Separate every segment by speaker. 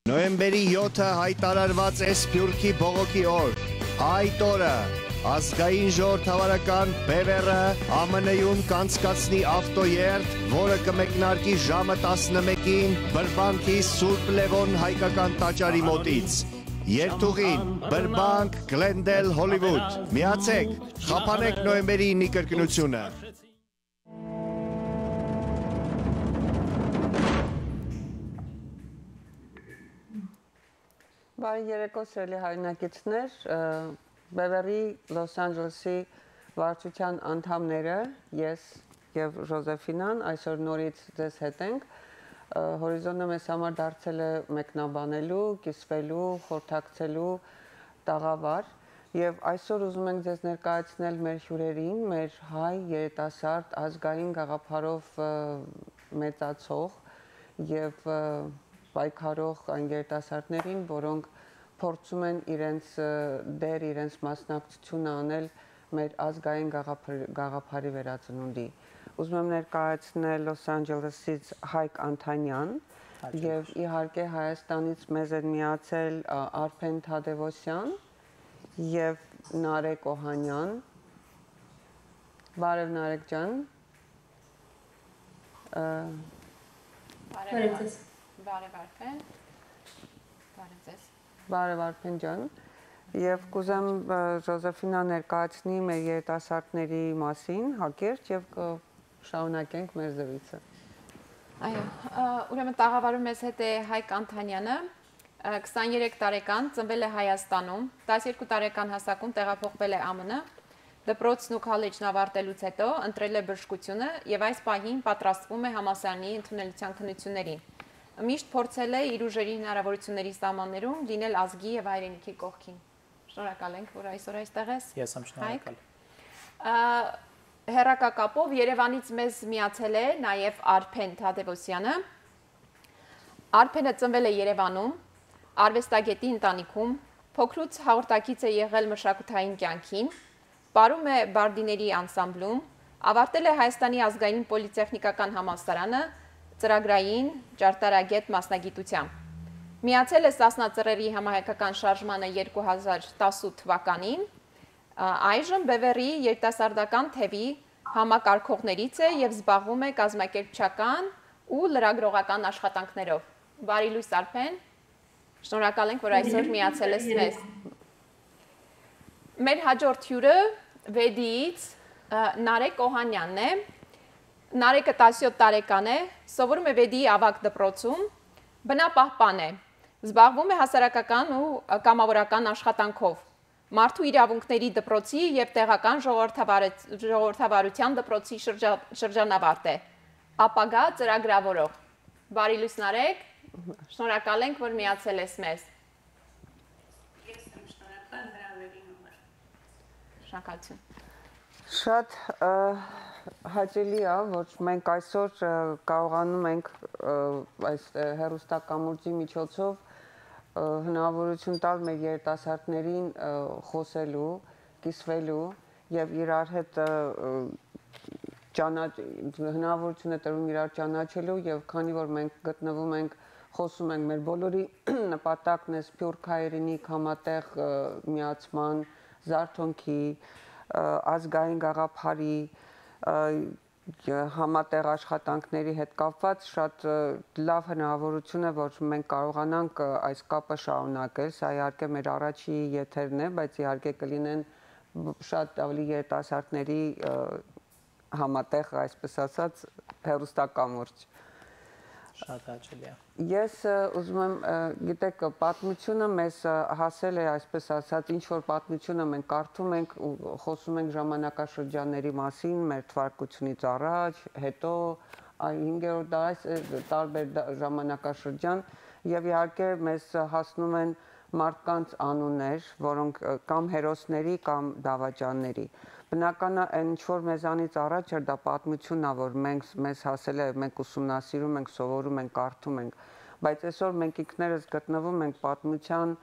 Speaker 1: Նոյեմբերի 7-ը հայտարարված է Սփյուռքի բողոքի օր։ Այդ օրը ազգային ժողովրդավարական բևեռը ԱՄՆ-ում կանցկացնի ավտոերթ, որը կմեկնարկի ժամը 11-ին Բրբանքի Սուրբ Լևոն հայկական տաճարի մոտից։ Երթուղին Բրբանք, Գլենդել, Հոլիվուդ։ Միացեք, խափանեք նոյեմբերի 9-ի կրկնությունը։
Speaker 2: Բարի երեկո սիրելի հայրենակիցներ, Բևեռի Լոս Անջելեսի վարչության անդամները, ես եւ Ժոզեֆինան այսօր նորից ձեզ հետ ենք։ Հորիզոնը մեզ համար դարձել է մեկնաբանելու, կիսվելու, խորհրդակցելու տաղավար եւ այսօր ուզում ենք ձեզ ներկայացնել մեր հյուրերին, մեր հայ երիտասարդ ազգային գաղափարով մեծացող եւ պայքարող այն երիտասարդներին, որոնք փորձում են իրենց դեր, իրենց մասնակցությունը անել մեր ազգային գաղափարի վերածնունդի։ Ուզում եմ ներկայացնել Լոս Անջելեսից Հայկ Անթանյան եւ իհարկե Հայաստանից մեզ են միացել Արփեն Թադևոսյան եւ Նարեկ Օհանյան։ Բարև Նարեկ ջան։
Speaker 3: Բարև ձեզ։ Բարև Արփեն։ Բարև ձեզ։
Speaker 2: Բարև Արփեն ջան։ Եվ կուզեմ Ժոզեֆինա ներկայացնի մեր երիտասարդների մասին հակերճ եւ կշարունակենք մեր զրույցը։
Speaker 3: Այո, ուրեմն տաղավարում մեզ հետ է Հայկ Անթանյանը, 23 տարեկան, ծնվել է Հայաստանում, 12 տարեկան հասակում տեղափոխվել է ԱՄՆ, դպրոցն ու քոլեջն ավարտելուց հետո ընտրել է բժշկությունը եւ այս պահին պատրաստվում է համալսարանի ընդունելության քննություններին։ Միշտ փորձել է իր ուժերի հնարավորությունների սահմաններում լինել ազգի եւ հայրենիքի կողքին։ Շնորհակալ ենք, որ այսօր այստեղ ես։
Speaker 4: Ես եմ շնորհակալ։
Speaker 3: Հեռակակապով Երևանից մեզ միացել է նաեւ Արփեն Թադևոսյանը։ Արփենը ծնվել է Երևանում, արվեստագետի ընտանիքում, փոքրուց հաղորդակից է եղել մշակութային կյանքին, պարում է բարդիների անսամբլում, ավարտել է Հայաստանի ազգային պոլիտեխնիկական համալսարանը ծրագրային ճարտարագետ մասնագիտությամբ։ Միացել է Սասնա Ծռերի համահայկական շարժմանը 2018 թվականին, այժմ Բևեռի երիտասարդական թևի համակարգողներից է եւ զբաղվում է կազմակերպչական ու լրագրողական աշխատանքներով։ Բարի լույս Արփեն, շնորհակալ ենք, որ այսօր միացել ես մեզ։ Մեր հաջորդ հյուրը Վեդիից Նարեկ Օհանյանն է։ Նարեկը 17 տարեկան է, սովորում է Վեդիի ավագ դպրոցում, բնապահպան է, զբաղվում է հասարակական ու կամավորական աշխատանքով, մարդու իրավունքների դպրոցի եւ տեղական ժողովրդավարության դպրոցի շրջանավարտ է, ապագա ծրագրավորող։ Բարի լույս Նարեկ, շնորհակալ ենք, որ միացել ես մեզ։
Speaker 5: Ես եմ շնորհակալ հրավերի համար։
Speaker 3: Շնորհակալություն։
Speaker 2: Շատ հաճելի է, որ մենք այսօր կարողանում ենք այս հեռուստակամուրջի միջոցով հնարավորություն տալ մեր երիտասարդներին խոսելու, կիսվելու եւ իրար հետ հնարավորություն է տրվում իրար ճանաչելու եւ քանի որ մենք գտնվում ենք խոսում ենք մեր բոլորի նպատակն է Սփյուռք հայրենիք համատեղ միացման, զարթոնքի, ազգային գաղափարի համատեղ աշխատանքների հետ կապված շատ լավ հնարավորություն է, որ մենք կարողանանք այս կապը շարունակել, սա իհարկե մեր առաջի եթերն է, բայց իհարկե կլինեն շատ ավելի երիտասարդների համատեղ, այսպես ասած, հեռուստակամուրջ։
Speaker 4: Շատ հաճելի է։
Speaker 2: Ես ուզում եմ, գիտեք, պատմությունը մեզ հասել է, այսպես ասած, ինչ որ պատմությունը մենք կարդում ենք ու խոսում ենք ժամանակաշրջանների մասին, մեր թվարկությունից առաջ, հետո 5-րդ դար, տարբեր ժամանակաշրջան եւ իհարկե մեզ հասնում են մարդկանց անուններ, որոնք կամ հերոսների կամ դավաճանների։ Բնական է, ինչ որ մեզանից առաջ էր դա պատմությունն է, որ մեզ հասել է, մենք ուսումնասիրում ենք, սովորում ենք, կարդում ենք, բայց այսօր մենք ինքներս գտնվում ենք պատմության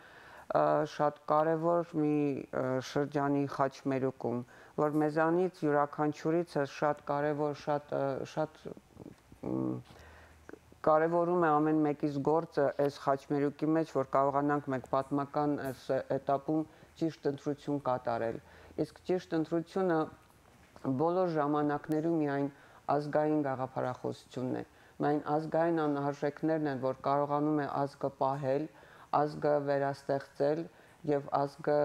Speaker 2: շատ կարևոր մի շրջանի խաչմերուկում, որ մեզանից յուրաքանչյուրից շատ կարևոր, շատ Կարևորում է ամեն մեկից գործը այս խաչմերուկի մեջ, որ կարողանանք մենք պատմական այս этаպում ճիշտ ընտրություն կատարել։ Իսկ ճիշտ ընտրությունը բոլոր ժամանակներում միայն ազգային գաղափարախոսությունն է։ Միայն ազգային անհարժեքներն են, որ կարողանում է ազգը պահել, ազգը վերաստեղծել եւ ազգը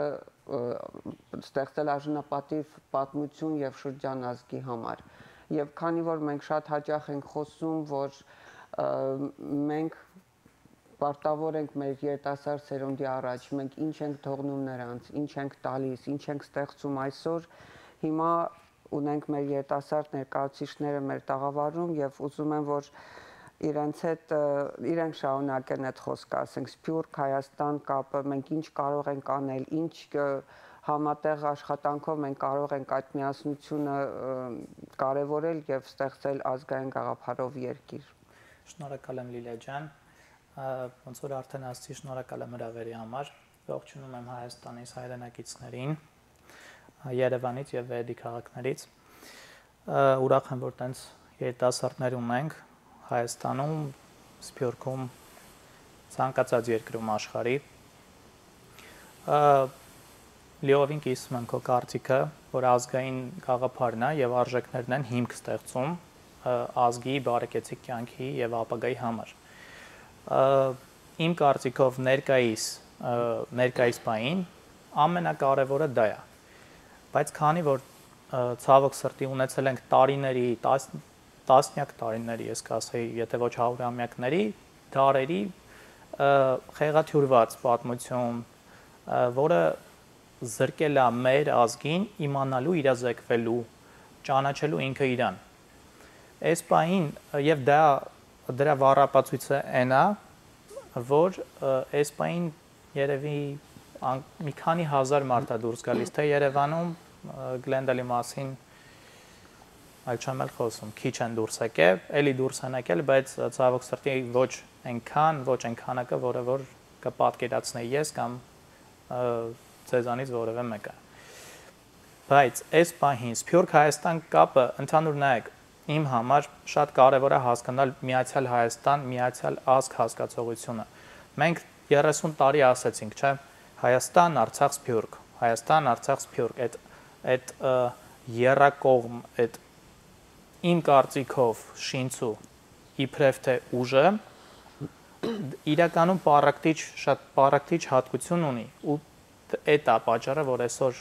Speaker 2: ստեղծել արժանապատիվ պատմություն եւ շրջան ազգի համար։ Եվ քանի որ մենք շատ հաճախ ենք խոսում, որ մենք պարտավոր ենք մեր երիտասարդ սերունդի առաջ, մենք ինչ ենք թողնում նրանց, ինչ ենք տալիս, ինչ ենք ստեղծում այսօր, հիմա ունենք մեր երիտասարդ ներկայացուցիչները մեր տաղավարում եւ ուզում եմ, որ իրենք շարունակեն այդ խոսքը, ասենք Սփյուռք Հայաստան կապը, մենք ինչ կարող ենք անել, ինչ համատեղ աշխատանքով մենք կարող ենք այդ միասնությունը կարևորել եւ ստեղծել ազգային գաղափարով երկիր։
Speaker 4: Շնորհակալ եմ Լիլիա ջան, ոնց որ արդեն ասացի, շնորհակալ եմ հրավերի համար, ողջունում եմ Հայաստանից հայրենակիցներին, Երևանից եւ Վերդի քաղաքներից, ուրախ եմ, որ տենց երիտասարդներ ունենք Հայաստանում, Սփյուռքում, ցանկացած երկրում աշխարհի։ Լիովին կիսում եմ քո կարծիքը, որ ազգային գաղափարն է եւ արժեքներն են հիմք ստեղծում ազգի բարեկեցիկ կյանքի եւ ապագայի համար։ Իմ կարծիքով ներկայիս բային ամենակարևորը դա է։ Բայց քանի որ ցավոք սրտի ունեցել ենք տարիների, տասնյակ տարիների, ես կասեի, եթե ոչ 100-ամյակների, դարերի խեղաթյուրված պատմություն, որը զրկել է մեր ազգին իմանալու, իրազեկվելու, ճանաչելու ինքը իրան։ Այս բային եւ դրա վառապացույցը այն է, որ այս բային երևի մի քանի հազար մարդ է դուրս գալիս, թե Երևանում Գլենդալի մասին այլ չեմ էլ խոսում, քիչ են դուրս եկել, էլի դուրս են եկել, բայց ցավոք սրտի ոչ այնքանակը, որը որ կպատկերացնեի ես կամ ձեզանից որևէ մեկը։ Բայց այս պահին Սփյուռք Հայաստան կապը ընդհանուր նայեք, իմ համար շատ կարևոր է հասկանալ Միացյալ Հայաստան, Միացյալ ազգ հասկացողությունը։ Մենք 30 տարի ասեցինք, չէ՞, Հայաստան, Արցախ, Սփյուռք, Հայաստան, Արցախ, Սփյուռք, այդ երակողմ, այդ իմ կարծիքով շինցու իբրև թե ուժը իրականում շատ պարակտիչ հատկություն ունի ու այդ է պատճառը, որ այսօր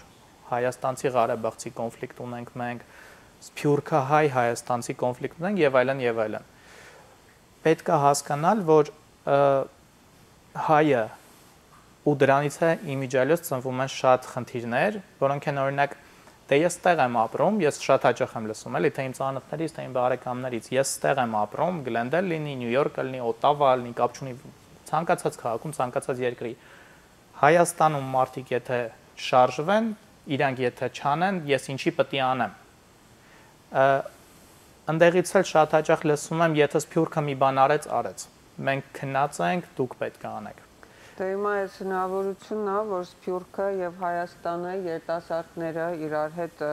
Speaker 4: հայաստանցի Ղարաբաղցի կոնֆլիկտ ունենք մենք, Սփյուռքահայ հայաստանցի կոնֆլիկտ ունենք եւ այլն եւ այլն։ Պետք է հասկանալ, որ հայը ու դրանից է իմիջիալոց ծնվում են շատ խնդիրներ, որոնք են օրինակ դե ես ստեղ եմ ապրում, ես շատ հաճախ եմ լսում, էլի թե իմ ծանոթներից, թե իմ բարեկամներից, ես ստեղ եմ ապրում, Գլենդել լինի, Նյու Յորք լինի, Օտավա լինի, կապ չունի, ցանկացած քաղաքում, ցանկացած երկրի։ Հայաստանում մարդիկ եթե շարժվեն, իրանք եթե չանեն, ես ինչի պետք է անեմ։ Ընդեղից էլ շատ հաճախ լսում եմ, եթե Սփյուռքը մի բան արեց։ Մենք քնած ենք, դուք պետք է անեք։
Speaker 2: Դե հիմա այս հնարավորությունն է, որ Սփյուռքը եւ Հայաստանը երիտասարդները իրար հետ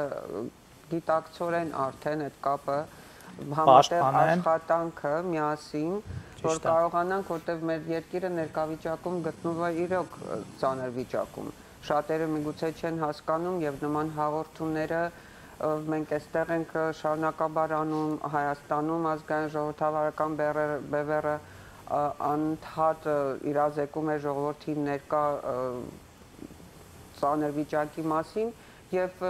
Speaker 2: գիտակցորեն արդեն այդ կապը համատեղ աշխատանքը միասին, որ կարողանանք, որտեղ մեր երկիրը ներկայվիճակում գտնվում է իրոք ծանր վիճակում։ Շատերը միգուցե չեն հասկանում եւ նման հաղորդումները մենք այստեղ ենք շարունակաբար անում Հայաստանում ազգային ժողովրդավարական բևեռը անընդհատ իրազեկում է ժողովրդի ներկա ծանր վիճակի մասին եւ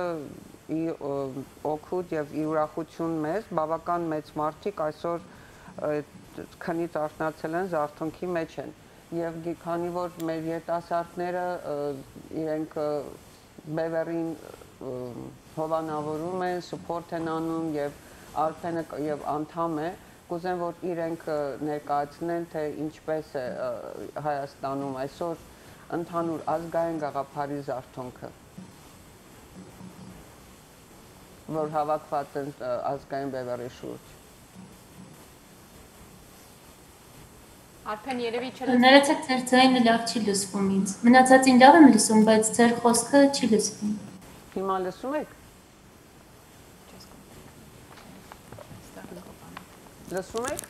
Speaker 2: օգուտ եւ ուրախություն մեզ բավական մեծ մարդիկ այսօր քնից արթնացել են, զարթոնքի մեջ են եւ քանի որ մեր երիտասարդները իրենք բևեռին հովանավորում են, սուպորտ են անում եւ Արփենը եւ անդամ է, կուզեմ որ իրենք ներկայացնեն թե ինչպես է Հայաստանում այսօր ընդհանուր ազգային գաղափարի զարթոնքը, որ հավաքված են ազգային բևեռի շուրջ։
Speaker 3: Արփեն երևի
Speaker 5: Ներեցեք, ձեր ձայնը լավ չի լսվում ինձ։ Մնացածին լավ եմ լսում, բայց ձեր խոսքը չի լսվում։
Speaker 2: Հիմա լսում եք։ Լսում եք։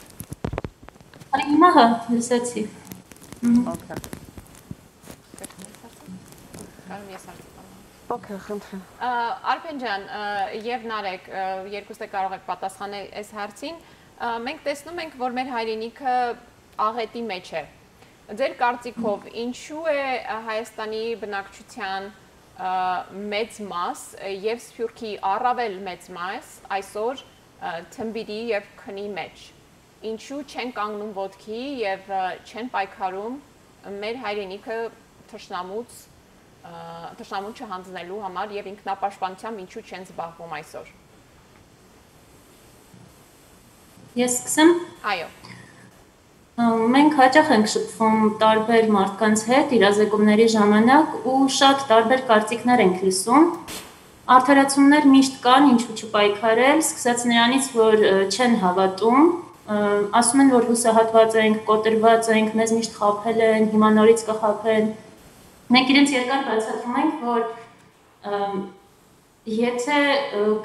Speaker 5: Հիմա հա, լսեցի։
Speaker 2: Okay.
Speaker 3: Կարո՞ղ եմ ես հարցնել։
Speaker 2: Okay, խնդրեմ։
Speaker 3: Արփեն ջան, եւ Նարեկ, երկուսը կարող եք պատասխանել այս հարցին։ Մենք տեսնում ենք, որ մեր հայրենիքը աղետի մեջ է։ Ձեր կարծիքով, ինչու է Հայաստանի բնակչության մեծ մաս եւ Սփյուռքի առավել մեծ մաս այսօր թմբիրի եւ քնի մեջ։ Ինչու չեն կանգնում ոտքի եւ չեն պայքարում մեր հայրենիքը թշնամուն չհանձնելու համար եւ ինքնապաշտպանությամբ ինչու չեն զբաղվում այսօր։
Speaker 5: Ես սկսեմ։
Speaker 3: Այո։
Speaker 5: Մենք հաճախ ենք շփվում տարբեր մարդկանց հետ իրազեկումների ժամանակ ու շատ տարբեր կարծիքներ ենք լսում։ Արդարացումներ միշտ կան, ինչու չպայքարել, սկսած նրանից, որ չեն հավատում, ասում են, որ հուսահատված ենք, կոտրված ենք, մեզ միշտ խաբել են, հիմա նորից կխաբեն։ Մենք իրենց երկար բացատրում ենք, որ եթե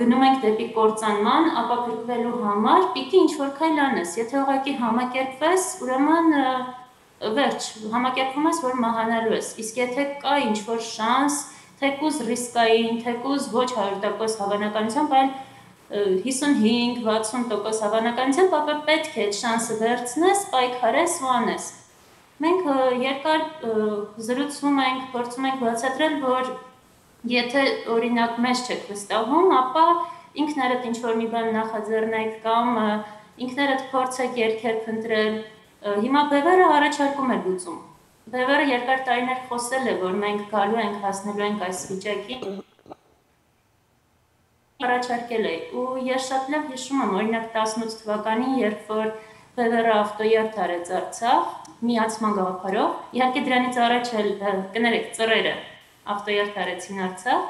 Speaker 5: գնում ենք դեպի կործանման, ապա փրկվելու համար պիտի ինչ-որ քայլ անես։ Եթե ուղղակի համակերպվես, ուրեմն վերջ, համակերպվում ես, որ մահանալու ես։ Իսկ եթե կա ինչ-որ շանս, թեկուզ ռիսկային, թեկուզ ոչ 100% հավանականությամբ, այլ 55-60% հավանականությամբ, ապա պետք է այդ շանսը վերցնես, պայքարես ու անես։ Մենք երկար զրուցում ենք, փորձում ենք բացատրել, որ եթե օրինակ մեզ չեք վստահում, ապա ինքներդ ինչ-որ մի բան նախաձեռնեք կամ ինքներդ փորձեք երգեր փնտրել։ Հիմա Բևերը առաջարկում է լուծում։ Բևերը երկար տարիներ խոսել է, որ մենք գալու ենք, հասնելու ենք այս վիճակին։ Առաջարկել է ու ես շատ լավ հիշում եմ, օրինակ 18 թվականին, երբ որ Բևերը ավտոյարդ արեց Արցախ, միացման գաղափարով, իհարկե դրանից առաջ էլ կներեք ծռերը ավտոյարդ արեցին Արցախ,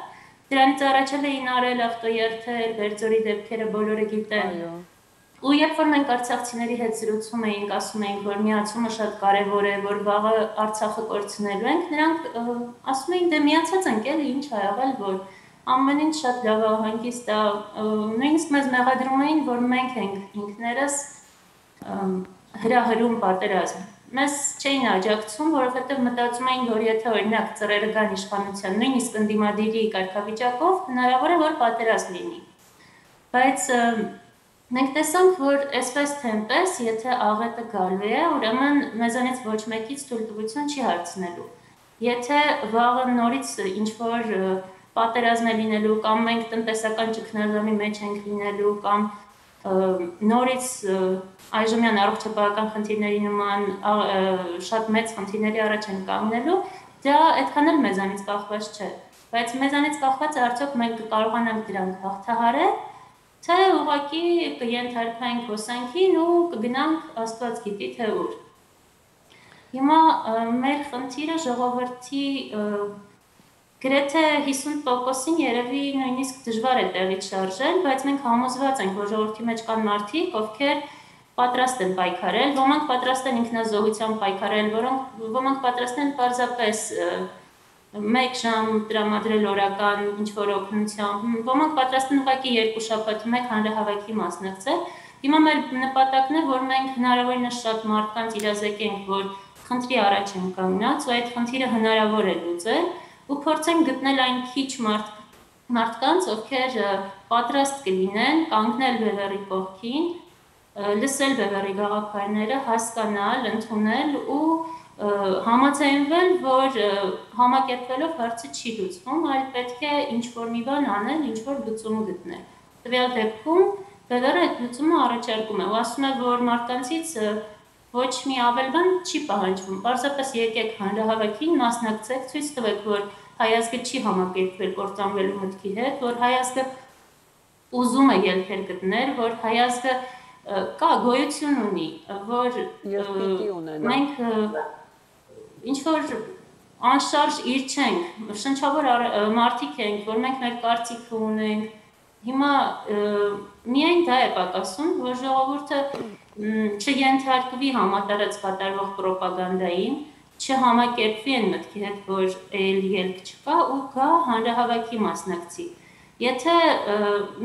Speaker 5: դրանից առաջ էլ էին արել ավտոյարդեր, Բերձորի դեպքերը բոլորը գիտեն։ Ու երբ որ մենք արցախցիների հետ զրուցում էինք, ասում էինք, որ միացումը շատ կարևոր է, որ վաղը Արցախը կորցնելու ենք, նրանք ասում էին, դե միացած ենք, էլի ինչ ա եղել, որ ամեն ինչ շատ լավ է, հանգիստ է, նույնիսկ մեզ մեղադրում էին, որ մենք ենք ինքներս հրահրում պատերազմ։ Մեզ չէին աջակցում, որովհետև մտածում էին, որ եթե օրինակ ծռերը գան իշխանության, նույնիսկ ընդդիմադիրի կարգավիճակով, հնարավոր է, որ պատերազմ լինի։ Բայց մենք տեսանք, որ այսպես թե այնպես, եթե աղետը գալու է, ուրեմն մեզանից ոչ մեկից թույլտվություն չի հարցնելու։ Եթե վաղը նորից ինչ-որ պատերազմ է լինելու կամ մենք տնտեսական ճգնաժամի մեջ ենք լինելու կամ նորից այժմյան առողջապահական խնդիրների նման շատ մեծ խնդիրների առաջ են կանգնելու, դա այդքան էլ մեզանից կախված չէ։ Բայց մեզանից կախված է արդյոք մենք կարողանանք դրանք հաղթահարել, թե ուղղակի կենթարկվենք հոսանքին ու կգնանք Աստված գիտի թե ուր։ Հիմա մեր խնդիրը ժողովրդի գրեթե 50%-ին երևի նույնիսկ դժվար է տեղից շարժել, բայց մենք համոզված ենք, որ ժողովրդի մեջ կան մարդիկ, ովքեր պատրաստ են պայքարել, ոմանք պատրաստ են ինքնազոհությամբ պայքարել, ոմանք պատրաստ են պարզապես 1 ժամ տրամադրել օրական ինչ-որ օգնությամբ, ոմանք պատրաստ են ուղղակի 2 շաբաթ մեկ հանրահավաքի մասնակցել։ Հիմա մեր նպատակն է, որ մենք հնարավորինս շատ մարդկանց իրազեկենք, որ խնդրի առաջ են կանգնած ու այդ խնդիրը հնարավոր է լուծել ու փորձենք գտնել այն քիչ մարդկանց, ովքեր պատրաստ կլինեն կանգնել Բևերի կողքին, լսել Բևերի գաղափարները, հասկանալ, ընդունել ու համաձայնվել, որ համակերպվելով հարցը չի լուծվում, այլ պետք է ինչ-որ մի բան անել, ինչ-որ լուծում գտնել։ Տվյալ դեպքում Բևերը այդ լուծումը առաջարկում է ու ասում է, որ մարդկանցից ոչ մի ավել բան չի պահանջվում, պարզապես եկեք հանրահավաքին, մասնակցեք, ցույց տվեք, որ հայազգը չի համակերպվել կործանվելու մտքի հետ, որ հայազգը ուզում է ելքեր գտնել, որ հայազգը կա գոյություն ունի, որ մենք ինչ-որ անշարժ իր չենք, շնչավոր մարդիկ ենք, որ մենք մեր կարծիքը ունենք, հիմա միայն դա է պակասում, որ ժողովուրդը չենթարկվի համատարած կատարվող պրոպագանդային, չհամակերպվի այն մտքի հետ, որ ելք չկա ու գա հանրահավաքի մասնակցի։ Եթե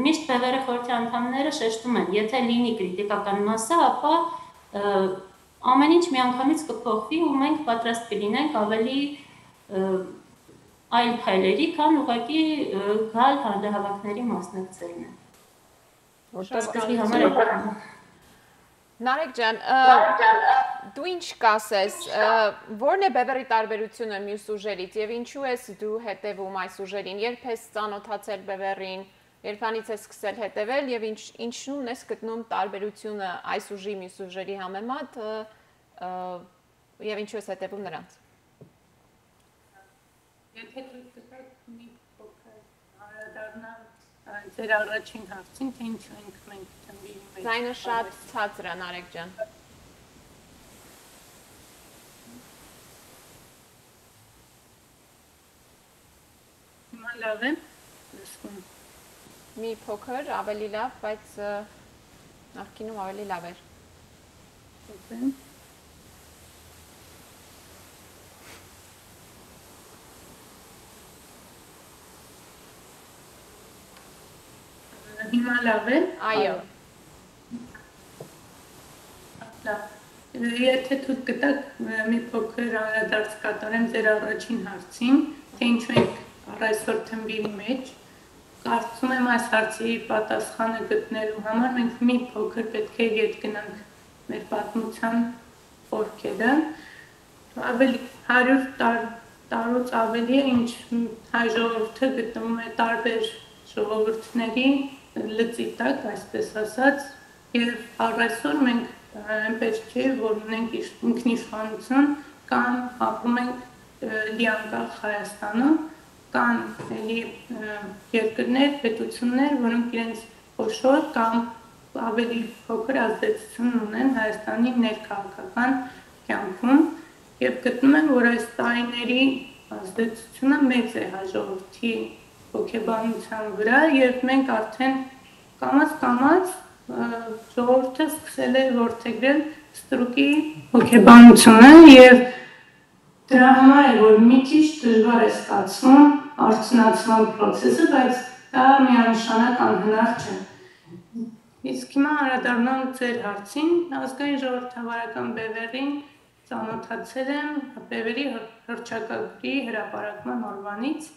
Speaker 5: միշտ Բևերի խորհրդի անդամները շեշտում են, եթե լինի կրիտիկական մասը, ապա ամեն ինչ միանգամից կփոխվի ու մենք պատրաստ կլինենք ավելի այլ քայլերի, քան ուղղակի գալ հանրահավաքների մասնակցելն է։ Որտեղ համար
Speaker 3: Նարեկ ջան, դու ինչ կասես, որն է Բևերի տարբերությունը մյուս ուժերից եւ ինչու ես դու հետևում այս ուժերին, երբ ես ծանոթացել Բևերին, երբանից ես սկսել հետևել եւ ինչու՞ն ես գտնում տարբերությունը այս ուժի մյուս ուժերի համեմատ եւ ինչու ես հետևում նրանց։
Speaker 6: Եթե դուք գտաք մի փոքր անդրադառնալ ձեր առաջին հարցին, թե ինչու ենք մենք թմբիրի մեջ։
Speaker 3: Ձայնը շատ ցածր է, Նարեկ ջան։
Speaker 6: Հիմա լավ է։ Լսում։
Speaker 3: Մի փոքր ավելի լավ, բայց նախկինում ավելի լավ էր։
Speaker 6: Հիմա լավ է։
Speaker 3: Այո։
Speaker 6: Եթե դուք գտաք մի փոքր անդրադարձ կատարեմ ձեր առաջին հարցին, թե ինչու ենք առ այսօր թմբիրի մեջ, կարծում եմ այս հարցի պատասխանը գտնելու համար մենք մի փոքր պետք է ետ գնանք մեր պատմության խորքերը, ավելի 100 տարուց ավելի է, ինչ հայ ժողովուրդը գտնվում է տարբեր ժողովուրդների լծի տակ, այսպես ասած, եւ առ այսօր մենք այնպես չէ, որ ունենք ինքնիշխանություն կամ ապրում ենք լիանկախ Հայաստանում, կան էլի երկրներ, պետություններ, որոնք իրենց խոշոր կամ ավելի փոքր ազդեցություն ունեն Հայաստանի ներքաղաքական կյանքում եւ գտնում եմ, որ այս տարիների ազդեցությունը մեծ է հայ ժողովրդի հոգեբանության վրա եւ մենք արդեն կամաց ժողովուրդը սկսել է որդեգրել ստրուկի հոգեբանությունը եւ դրա համար է որ մի քիչ դժվար է ստացվում արդյունացման process-ը, բայց դա միանշանակ անհնար չէ։ Իսկ հիմա անդրադառնալ ձեր հարցին, ազգային ժողովրդավարական Բևերին ծանոթացել եմ Բևերի հռչակագրի հրապարակման օրվանից։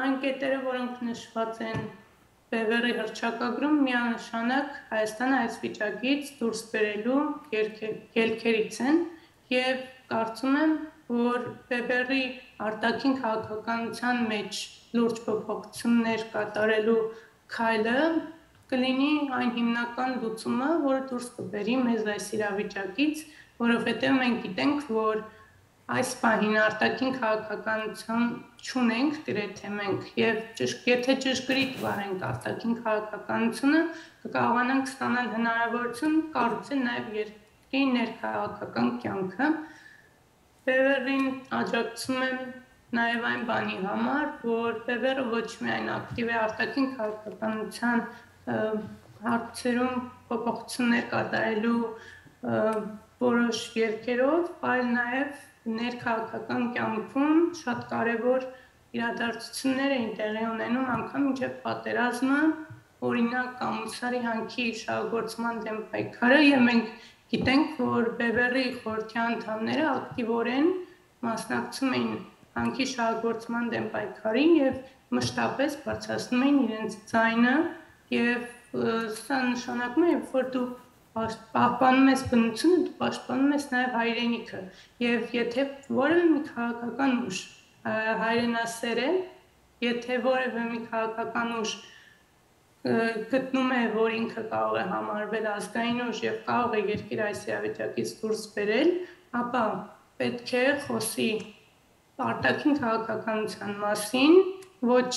Speaker 6: Այն կետերը, որոնք նշված են Բևերի հռչակագրում, միանշանակ Հայաստանը այս վիճակից դուրս բերելու ելքերից են եւ կարծում եմ, որ Բևերի արտաքին քաղաքականության մեջ լուրջ փոփոխություններ կատարելու քայլը կլինի այն հիմնական լուծումը, որը դուրս կբերի մեզ այս իրավիճակից, որովհետեւ մենք գիտենք, որ այս պահին արտաքին քաղաքականություն չունենք, գրեթե մենք եւ եթե ճշգրիտ վարենք արտաքին քաղաքականությունը, կկարողանանք ստանալ հնարավորություն կառուցել նաեւ երկրի ներքաղաքական կյանքը։ Բևերին աջակցում եմ նաեւ այն բանի համար, որ Բևերը ոչ միայն ակտիվ է արտաքին քաղաքականության հարցերում փոփոխություններ կատարելու որոշ երկերով, այլ նաեւ ներքաղաքական կյանքում շատ կարևոր իրադարձություններ էին տեղի ունենում անգամ մինչև պատերազմը, օրինակ Կամուսարի հանքի շահագործման դեմ պայքարը եւ մենք գիտենք, որ Բևերի խորհրդի անդամները ակտիվորեն մասնակցում էին հանքի շահագործման դեմ պայքարին եւ մշտապես բարձրացնում էին իրենց ձայնը եւ սա նշանակում է, որ դու պահպանում ես բնությունը, դու պաշտպանում ես նաև հայրենիքը եւ եթե որևէ մի քաղաքական ուժ հայրենասեր է, եթե որևէ մի քաղաքական ուժ գտնում է, որ ինքը կարող է համարվել ազգային ուժ եւ կարող է երկիր այս իրավիճակից դուրս բերել, ապա պետք է խոսի արտաքին քաղաքականության մասին, ոչ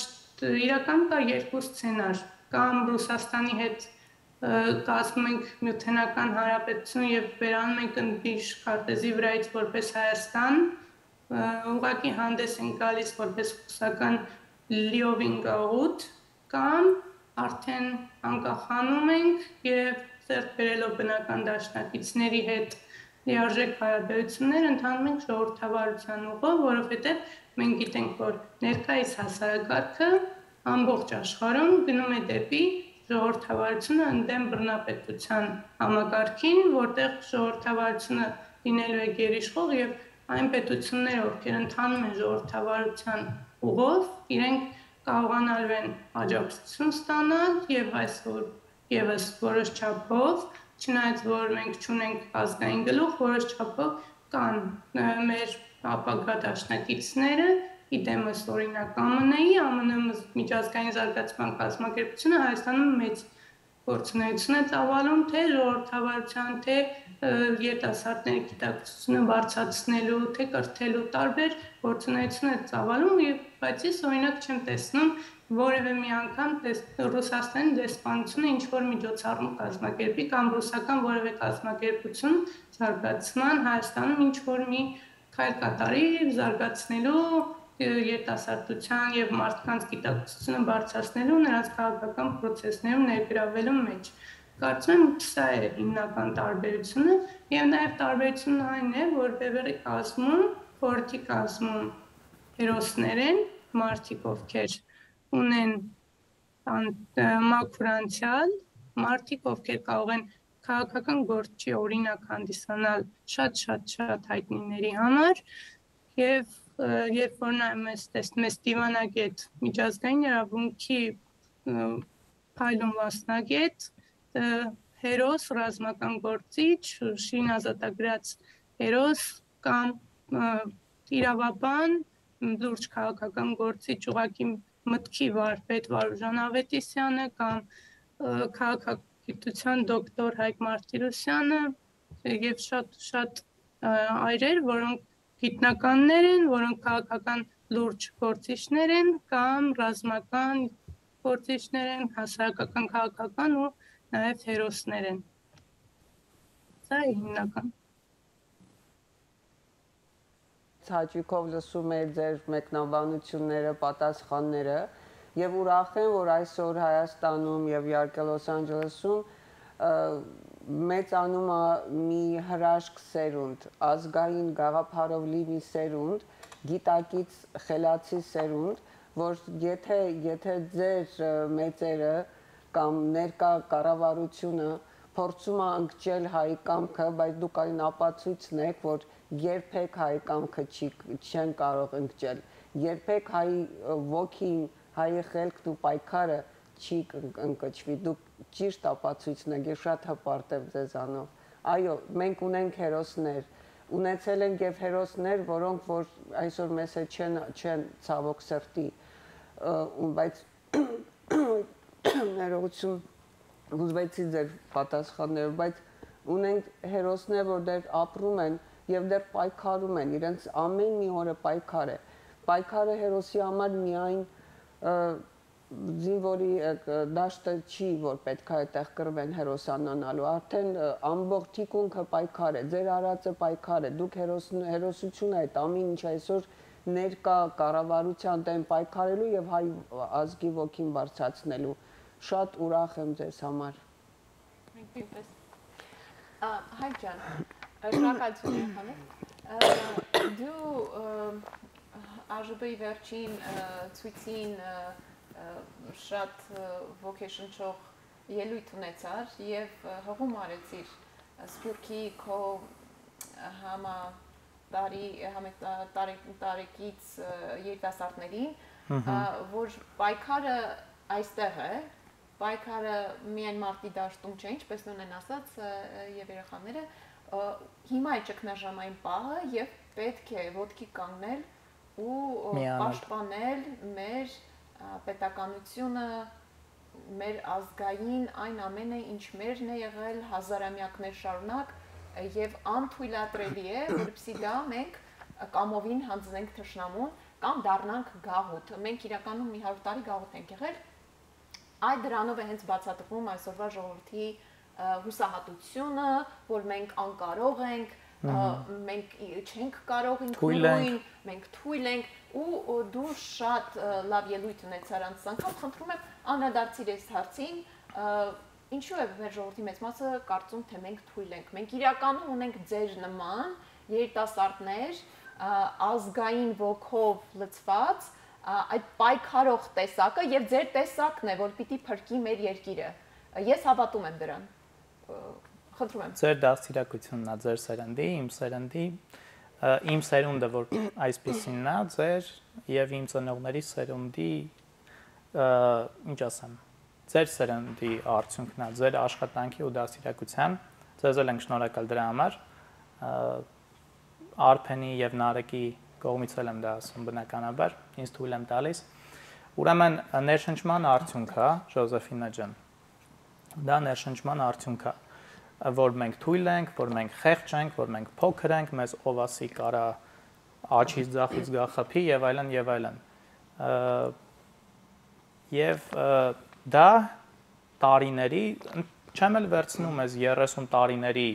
Speaker 6: իրական կա երկու սցենար, կամ Ռուսաստանի հետ կազմում ենք Միութենական Հանրապետություն եւ վերանում ենք ընդդիժ քարտեզի վրայից որպես Հայաստան, ուղղակի հանդես են գալիս որպես ռուսական լիովին գաղութ, կամ արդեն անկախանում ենք եւ ծերտ բերելով բնական դաշնակիցների հետ լիարժեք հարաբերություններ ընթանում ենք ժողովրդավարության ուղով, որովհետեւ մենք գիտենք, որ ներկայիս հասարակարգը ամբողջ աշխարհում գնում է դեպի ժողովրդավարությունը ընդդեմ բռնապետության համակարգին, որտեղ ժողովրդավարությունը լինելու է գերիշխող եւ այն պետությունները, ովքեր ընթանում են ժողովրդավարության ուղով, իրենք կարողանալու են աջակցություն ստանալ եւ այսօր եւս որոշ չափով, չնայած որ մենք չունենք ազգային գլուխ, որոշ չափով կան մեր ապագա դաշնակիցները, իդեմս օրինակ ԱՄՆ-ի միջազգային զարգացման կազմակերպությունը Հայաստանում մեծ գործունեություն է ծավալում թե ժողովրդավարության, թե երիտասարդների գիտակցությունը բարձրացնելու, թե կրթելու տարբեր գործունեություն է ծավալում, բայց ես օրինակ չեմ տեսնում որևէ մի անգամ Ռուսաստանի դեսպանությունը ինչ-որ միջոցառում կազմակերպի կամ ռուսական որևէ կազմակերպություն զարգացման Հայաստանում ինչ-որ մի քայլ կատարի զարգացնելու երիտասարդության եւ մարդկանց գիտակցությունը բարձրացնելու նրանց քաղաքական process-ներում ներգրավելու մեջ։ Կարծում եմ սա է հիմնական տարբերությունը եւ նաեւ տարբերությունն այն է, որ Բևերի կազմում, խորհրդի կազմում հերոսներ են, մարդիկ ովքեր ունեն մաքուր անցյալ, մարդիկ ովքեր կարող են քաղաքական գործի օրինակ հանդիսանալ շատ հայտնիների համար եւ երբ որ նայում ես դիվանագետ միջազգային իրավունքի փայլուն մասնագետ հերոս ռազմական գործիչ շին ազատագրած հերոս կամ իրավաբան լուրջ քաղաքական գործիչ ուղղակի մտքի վարպետ Վարուժան Ավետիսյանը կամ քաղաքագիտության դոկտոր Հայկ Մարտիրոսյանը եւ շատ այրեր, որոնք գիտնականներ են, որոնք քաղաքական լուրջ գործիչներ են կամ ռազմական գործիչներ են, հասարակական քաղաքական ու նաև հերոսներ են։ Սա է հիմնական։
Speaker 2: Հաճույքով լսում եմ ձեր մեկնաբանությունները, պատասխանները եւ ուրախ եմ, որ այսօր Հայաստանում եւ իհարկե Լոս Անջելեսում մեծանում է մի հրաշք սերունդ, ազգային գաղափարով լի մի սերունդ, գիտակից խելացի սերունդ, որ եթե ձեր մեծերը կամ ներկա կառավարությունը փորձում է ընկճել հայի կամքը, բայց դուք այն ապացույցն եք, որ երբեք հայի կամքը չեն կարող ընկճել, երբեք հայի ոգին, հայի խելքն ու պայքարը չի ընկճվի, դուք ճիշտ ապացույցն եք, ես շատ հպարտ եմ ձեզանով։ Այո, մենք ունենք հերոսներ, ունեցել ենք եւ հերոսներ, որոնք որ այսօր մեզ հետ չեն ցավոք սրտի, բայց ներողություն ուզվեցի ձեր պատասխանները, բայց ունենք հերոսներ, որ դեռ ապրում են եւ դեռ պայքարում են, իրենց ամեն մի օրը պայքար է։ Պայքարը հերոսի համար միայն զինվորի դաշտը չի, որ պետք է այդտեղ կռվեն հերոսանանալու, արդեն ամբողջ թիկունքը պայքար է, ձեր արածը պայքար է, դուք հերոսությունը այդ ամեն ինչ այսօր ներկա կառավարության դեմ պայքարելու եւ հայ ազգի ոգին բարձրացնելու, շատ ուրախ եմ ձեզ համար։
Speaker 3: Հայկ ջան, շնորհակալություն եմ դու ԱԺԲ-ի վերջին ցույցին շատ ոգեշնչող ելույթ ունեցար եւ հղում արեցիր Սփյուռքի քո տարեկից երիտասարդներին, որ պայքարը այստեղ է, պայքարը միայն մարտի դաշտում չէ, ինչպես նույնն ասաց եւ երեխաները, հիմա է ճգնաժամային պահը եւ պետք է ոտքի կանգնել ու պաշտպանել մեր պետականությունը, մեր ազգային այն ամենը, ինչ մերն է եղել հազարամյակներ շարունակ եւ անթույլատրելի է, որպեսզի դա մենք կամովին հանձնենք թշնամուն կամ դառնանք գաղութ։ Մենք իրականում մի 100 տարի գաղութ ենք եղել։ Այդ դրանով է հենց բացատրվում այսօրվա ժողովրդի հուսահատությունը, որ մենք անկարող ենք, մենք չենք կարող ինքնուրույն, մենք թույլ ենք ու դու շատ լավ ելույթ ունեցար անց անգամ, խնդրում եմ անդրադարձիր այս հարցին, ինչու է մեր ժողովրդի մեծ մասը կարծում, թե մենք թույլ ենք, մենք իրականում ունենք ձեր նման երիտասարդներ, ազգային ոգով լցված, այդ պայքարող տեսակը եւ ձեր տեսակն է, որ պիտի փրկի մեր երկիրը։ Ես հավատում եմ դրան։ Խնդրում եմ։
Speaker 4: Ձեր դաստիարակությունն է ձեր սերնդի, իմ սերունդը, որ այսպեսինն է, ձեր եւ իմ ծնողների սերունդի, ինչ ասեմ, ձեր սերնդի արդյունքն է, ձեր աշխատանքի ու դաստիարակության, ձեզ էլ ենք շնորհակալ դրա համար։ Արփենի եւ Նարեկի կողմից էլ եմ դա ասում բնականաբար, ինձ թույլ եմ տալիս։ Ուրեմն ներշնչման արդյունք է, Ժոզեֆինա ջան։ Դա ներշնչման արդյունք է, որ մենք թույլ ենք, որ մենք խեղճ ենք, որ մենք փոքր ենք, մեզ ով ասի կարա աչից ձախից գա խփի եւ այլն եւ այլն։ Եվ դա տարիների, չեմ էլ վերցնում ես 30 տարիների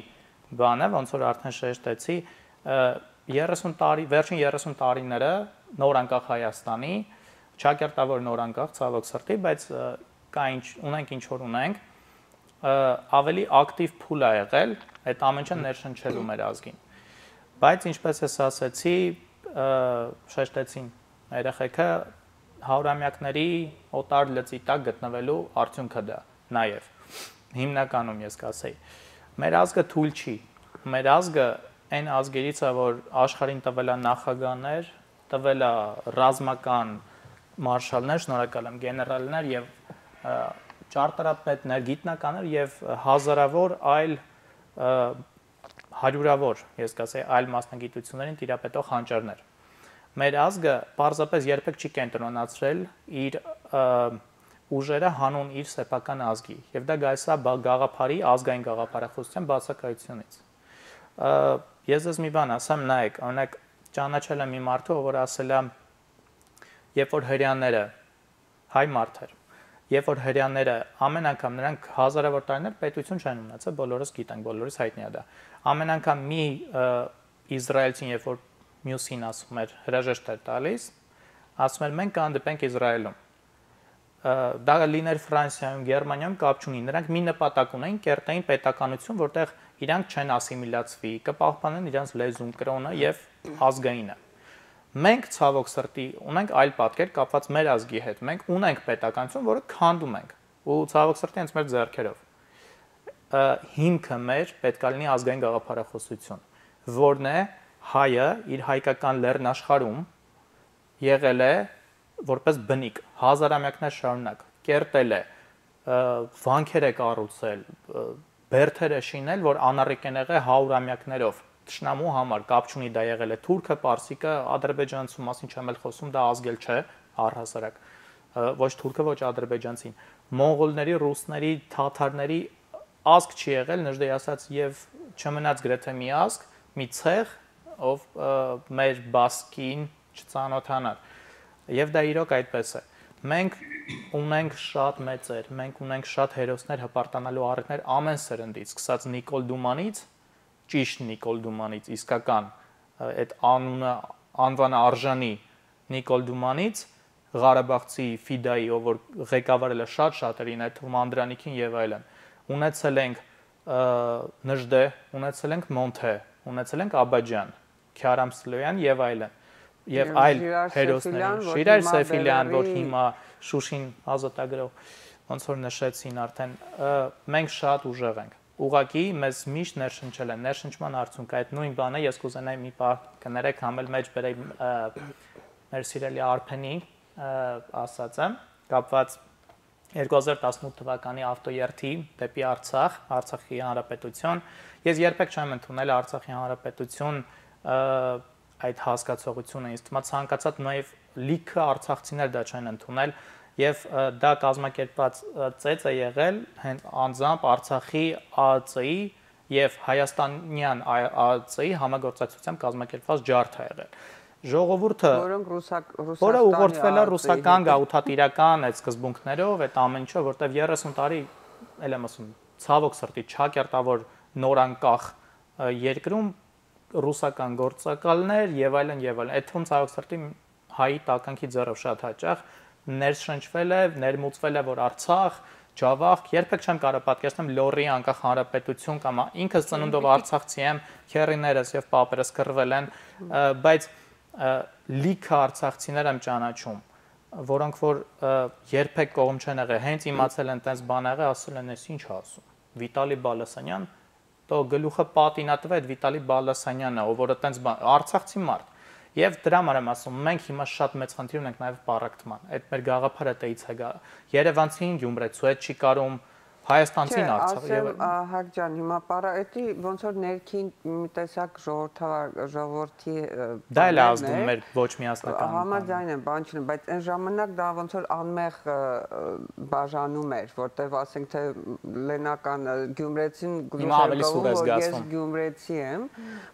Speaker 4: բանը, ոնց որ արդեն շեշտեցի, 30 տարի, վերջին 30 տարիները նոր անկախ Հայաստանի, չակերտավոր նոր անկախ ցավոք սրտի, բայց ունենք ինչ որ ունենք, ավելի ակտիվ փուլ է եղել այդ ամենը ներշնչելու մեր ազգին։ Բայց ինչպես ես ասացի, շեշտեցին երեխեքը հարյուրամյակների օտար լծի տակ գտնվելու արդյունքը դա նաև հիմնականում ես կասեի։ Մեր ազգը թույլ չի։ Մեր ազգը այն ազգերից է, որ աշխարհին տվել է նախագահներ, տվել է ռազմական մարշալներ, շնորհակալ եմ, գեներալներ եւ ճարտարապետներ, գիտնականներ եւ հազարավոր այլ հարյուրավոր, ես կասեի, այլ մասնագիտություններին տիրապետող հանճարներ։ Մեր ազգը պարզապես երբեք չի կենտրոնացրել իր ուժերը հանուն իր սեփական ազգի եւ դա գալիս է գաղափարի ազգային գաղափարախոսության բացակայությունից։ Ես ձեզ մի բան ասեմ, նայեք, օրինակ ճանաչել եմ մի մարդու, որ ասել է, երբ որ հрьяաները հայ մարդեր, երբ որ հрьяաները ամեն անգամ նրանք հազարավոր տարիներ պետություն չեն ունեցել, բոլորս գիտենք, բոլորս հայտնի է դա։ Ամեն անգամ մի իսրայելցին, երբ որ մյուսին ասում էր հրաժեշտ էր տալիս, ասում էր մենք կհանդիպենք Իսրայելում։ Դա լիներ Ֆրանսիայում, Գերմանիայում կապ չունի, նրանք մի նպատակ ունեն, կերտային պետականություն, որտեղ իրանք չեն ասիմիլացվի, կպահպանեն իրենց լեզուն, կրոնը եւ ազգայինը։ Մենք ցավոք սրտի ունենք այլ պատկեր կապված մեր ազգի հետ։ Մենք ունենք պետականություն, որը քանդում ենք, ու ցավոք սրտի հենց մեր ձեռքերով։ Հիմքը մեր պետք է լինի ազգային գաղափարախոսություն, որն է հայը իր հայկական լեռնաշխարհում եղել է որպես բնիկ, հազարամյակներ շարունակ, կերտել է, վանքեր է կառուցել, բերդեր է շինել, որ անառիկ են եղել հարյուրամյակներով, թշնամու համար, կապ չունի դա եղել է թուրքը, պարսիկը, ադրբեջանցու մասին չեմ էլ խոսում, դա ազգել չէ, առհասարակ, ոչ թուրքը, ոչ ադրբեջանցին, մոնղոլների, ռուսների, թաթարների ազգ չի եղել, նժդեի ասած, եւ չմնաց գրեթե մի ազգ, մի ցեղ, ով մեր բասկին չծանոթանար։ Եվ դա իրոք այդպես է։ Մենք ունենք շատ մեծեր, մենք ունենք շատ հերոսներ հպարտանալու առիթներ ամեն սերնդից, սկսած Նիկոլ Դումանից, ճիշտ Նիկոլ Դումանից, իսկական այդ անվանը արժանի Նիկոլ Դումանից, Ղարաբաղցի Ֆիդայի, ով որ ղեկավարել է շատ շատերին, այդ թվում Անդրանիկին եւ այլն։ Ունեցել ենք Նժդե, ունեցել ենք Մոնթե, ունեցել ենք Աբաջան, Քյարամ Սլոյան եւ այլն։ Եվ այլ հերոսներ, Շիրար Սեֆիլյան, որ հիմա Շուշին ազատագրող, ոնց որ նշեցին արդեն, մենք շատ ուժեղ ենք։ Ուղղակի մեզ միշտ ներշնչել են, ներշնչման արդյունք այդ նույն բանը ես կուզենայի մի պահ կներեք համել մեջ բերեի մեր սիրելի Արփենի ասածը, կապված 2018 թվականի ավտոերթի դեպի Արցախ, Արցախի Հանրապետություն։ Ես երբեք չեմ ընդունել Արցախի Հանրապետություն այդ հասկացողությունը, ինձ թվում է ցանկացած նաև լիքը արցախցիներ դա չեն ընդունել եւ դա կազմակերպված ծեծ է եղել հենց անձամբ Արցախի ԱԱՑ-ի եւ Հայաստանյան ԱԱՑ-ի համագործակցությամբ կազմակերպված ջարդ է եղել։ Ժողովուրդը, որը ուղղորդվել է ռուսական գաղութատիրական այդ սկզբունքներով, այդ ամեն ինչը, որտեվ 30 տարի, ել եմ ասում, ցավոք սրտի չակերտավոր նորանկախ երկրում ռուսական գործակալներ եւ այլն եւ այլն։ Այդ թվում ցավոք սրտի հայի տականքի ձեռով շատ հաճախ ներշնչվել է, ներմուծվել է, որ Արցախ, Ջավախ, երբեք չեմ կարող պատկերացնել Լոռի անկախ հանրապետություն կամ ինքս ծնունդով արցախցի եմ, քերիներս եւ պապերս կռվել են, բայց լիքը արցախցիներ եմ ճանաչում, որոնք որ երբեք կողմ չեն եղել, հենց իմացել են տես բան եղել, ասել են, «Էս ինչ ասում»։ Վիտալի Բալասանյան, то գլուխը պատինա տվե այդ Վիտալի Բալասանյանը, ով որը տես բան, արցախցի մարդ։ Եվ դրա համար եմ ասում, մենք հիմա շատ մեծ խնդիր ունենք նաև պարակտման։ Այդ մեր գաղափարը տեից է գա։ Երևանցին Գյումրեցու հետ չի կարում, հայաստանցին Արցախ
Speaker 2: եւ Հակ ջան, հիմա պարայտի ոնց որ ներքին մի տեսակ ժողովրդի
Speaker 4: դա էլ ազդում մեր ոչ միասնական
Speaker 2: համաձայն եմ, բան չունեմ, բայց այն ժամանակ դա ոնց որ անմեղ բաժանում էր, որտեվ ասենք թե լենական Գյումրեցին գլուխը ես Գյումրեցի եմ,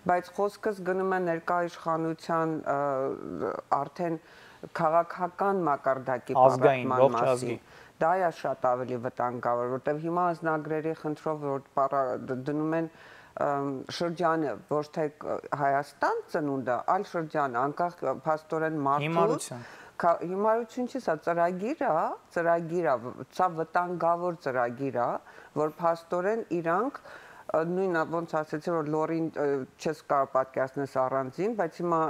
Speaker 2: բայց խոսքս գնում է ներկա իշխանության արդեն քաղաքական մակարդակի
Speaker 4: պարակտման մասին։
Speaker 2: Դա է շատ ավելի վտանգավոր, որտեղ հիմա անձնագրերի խնդրով որ դնում են շրջանը, ոչ թե Հայաստան ծնունդը, այլ շրջանը, անկախ փաստորեն մարդուց, հիմարություն չի, սա ծրագիր է, սա վտանգավոր ծրագիր է, որ փաստորեն իրանք նույնը ոնց ասեցի որ լորին չես կարող պատկերացնել առանձին, բայց հիմա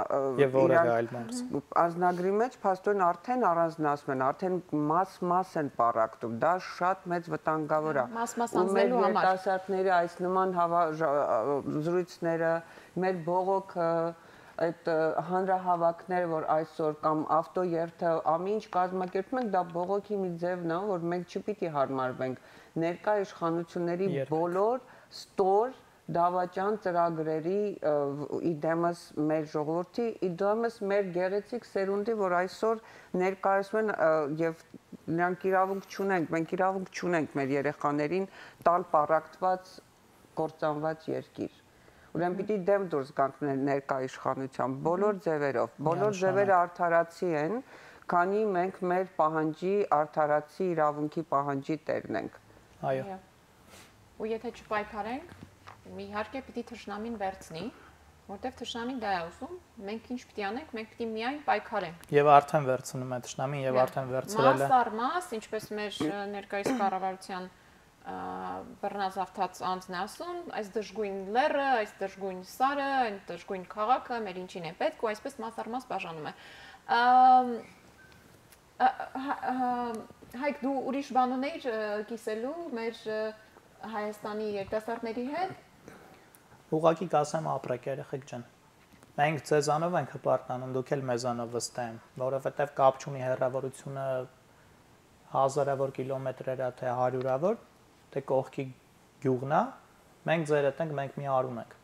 Speaker 2: անձնագրի մեջ փաստորեն արդեն առանձնացում են, արդեն մաս են պարակտում, դա շատ մեծ վտանգավոր է։
Speaker 3: Մաս անձնելու համար։
Speaker 2: Երիտասարդների այս նման զրույցները, մեր բողոքը, այդ հանրահավաքները, որ այսօր կամ ավտոերթը ամեն ինչ կազմակերպում ենք, դա բողոքի մի ձևն է, որ մենք չպիտի հարմարվենք ներկա իշխանությունների բոլոր ստոր դավաճան ծրագրերի իդեմս մեր ժողովրդի, իդեմս մեր գեղեցիկ սերունդի, որ այսօր ներկայացում են եւ նրանք իրավունք չունենք, մենք իրավունք չունենք մեր երեխաներին տալ պարակտված կործանված երկիր։ Ուրեմն պիտի դեմ դուրս գանք ներկա իշխանության բոլոր ձևերով, բոլոր ձևերը արդարացի են, քանի մենք մեր պահանջի արդարացի իրավունքի պահանջի տերն ենք։
Speaker 4: Այո։
Speaker 3: Ու եթե չպայքարենք, իհարկե պիտի թշնամին վերցնի, որտեվ թշնամին դա է ուզում, մենք ինչ պիտի անենք, մենք պիտի միայն պայքարենք։
Speaker 4: Եվ արդեն վերցնում է թշնամին եւ արդեն վերցրել է։
Speaker 3: Մաս առ մաս, ինչպես մեր ներկայիս կառավարության բռնազավթած անձն է ասում, այս դժգույն լեռը, այս դժգույն սարը, այն դժգույն քաղաքը մեր ինչին է պետք ու այսպես մաս առ մաս բաժանում է։ Հայկ դու ուրիշ բան ունեիր կիսելու մեր Հայաստանի երիտասարդների հետ։
Speaker 4: Ուղղակի կասեմ ապրեք երեխեք ջան։ Մենք ձեզանով ենք հպարտանում, դուք էլ մեզանով վստահ եմ, որովհետև կապ չունի հեռավորությունը հազարավոր կիլոմետրեր է թե հարյուրավոր, թե կողքի գյուղն է, մենք ձեր հետ ենք, մենք մի արուն ենք։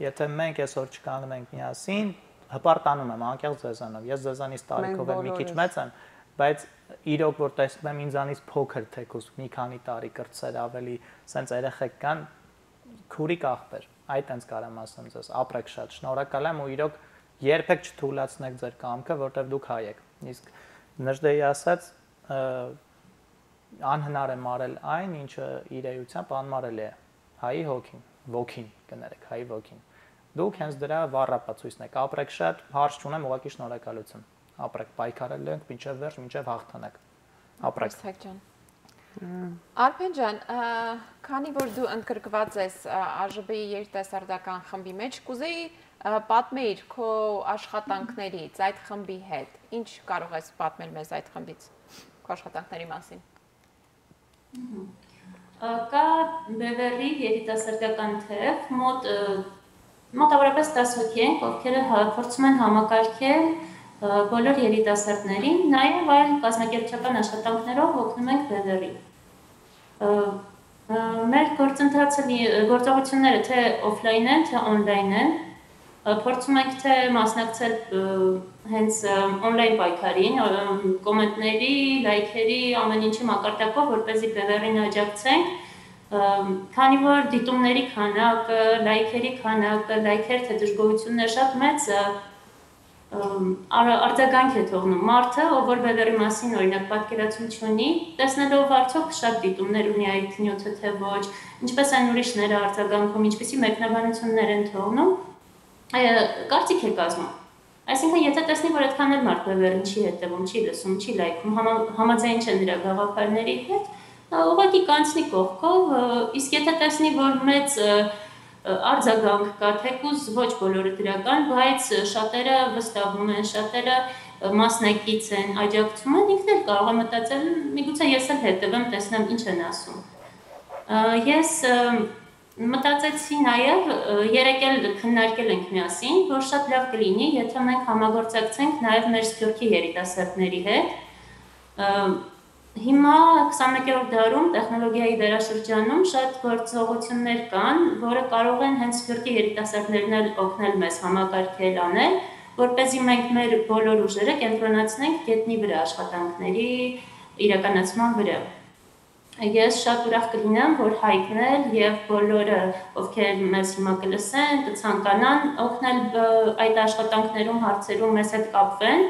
Speaker 4: Եթե մենք այսօր չկանգնենք միասին, հպարտանում եմ անկեղծ ձեզանով։ Ես ձեզանից տարիքով եմ մի քիչ մեծ եմ, բայց իրոք որ տեսնում եմ ինձանից փոքր թեկուզ մի քանի տարի կրտսեր ավելի սենց երեխեք կան քուրիկ ախպեր այդ այնց կարամ ասեմ ձեզ ապրեք շատ շնորհակալ եմ ու իրոք երբեք չթույլատնեք ձեր կամքը որտեվ դուք հայ եք իսկ Նժդեի ասած անհնար է մարել այն ինչը իր էությամբ անմարելի է հայի ոգին կներեք հայի ոգին դուք հենց դրա վառապացույցն եք ապրեք շատ հարց չունեմ ուղղակի շնորհակալություն ապրեք պայքարել ենք մինչև վերջ մինչև հաղթանակ ապրեք
Speaker 3: ջան Արփեն ջան քանի որ դու ընդգրկված ես ԱԺԲ-ի երիտասարդական խմբի մեջ կուզեի պատմեիր քո աշխատանքներից այդ խմբի հետ ինչ կարող ես պատմել մեզ այդ խմբից քո աշխատանքների մասին
Speaker 5: Կա Բևեռլի երիտասարդական թեւ մոտավորապես 10 հոգի են ովքեր փորձում են համակարգել բոլոր երիտասարդներին, նաև այլ կազմակերպչական աշխատանքներով օգնում ենք Բևեռլին։ Մեր գործողությունները թե օֆլայն են, թե օնլայն են, փորձում ենք թե մասնակցել հենց օնլայն պայքարին, կոմենտների, լայքերի, ամեն ինչի մակարդակով, որպեսզի Բևեռլին աջակցենք, քանի որ դիտումների քանակը, լայքերի քանակը, լայքեր թե դժգոհություններ շատ մեծ արձագանք է թողնում մարդը, ով որ Բևեռլի մասին օրինակ պատկերացում չունի, տեսնելով արդյոք շատ դիտումներ ունի այդ նյութը թե ոչ, ինչպես այն ուրիշները արձագանքում, ինչպեսի մեկնաբանություններ են թողնում, կարծիք է կազմում։ Այսինքն, եթե տեսնի, որ այդքան էլ մարդ Բևեռլին չի հետևում, չի լսում, չի լայքում, համաձայն չէ նրա գաղափարների հետ, ուղղակի կանցնի կողքով, իսկ եթե տեսնի, որ մեծ արձագանք կա, թեկուզ ոչ բոլորը դրական, բայց շատերը վստահում են, շատերը մասնակից են, աջակցում են, ինքն էլ կարող է մտածել, միգուցե ես էլ հետևեմ, տեսնեմ ինչ են ասում։ Ես մտածեցի նաև, երեք էլ քննարկել ենք միասին, որ շատ լավ կլինի, եթե մենք համագործակցենք նաև մեր Սփյուռքի երիտասարդների հետ։ Հիմա 21-րդ դարում տեխնոլոգիայի դարաշրջանում շատ գործողություններ կան, որը կարող են հենց Սփյուռքի երիտասարդներն էլ օգնել մեզ համակարգել անել, որպեսզի մենք մեր բոլոր ուժերը կենտրոնացնենք գետնի վրա աշխատանքների իրականացման վրա։ Ես շատ ուրախ կլինեմ, որ Հայկն եւ բոլորը, ովքեր մեզ հիմա կլսեն, կցանկանան օգնել այդ աշխատանքներում, հարցերում մեզ հետ կապվեն,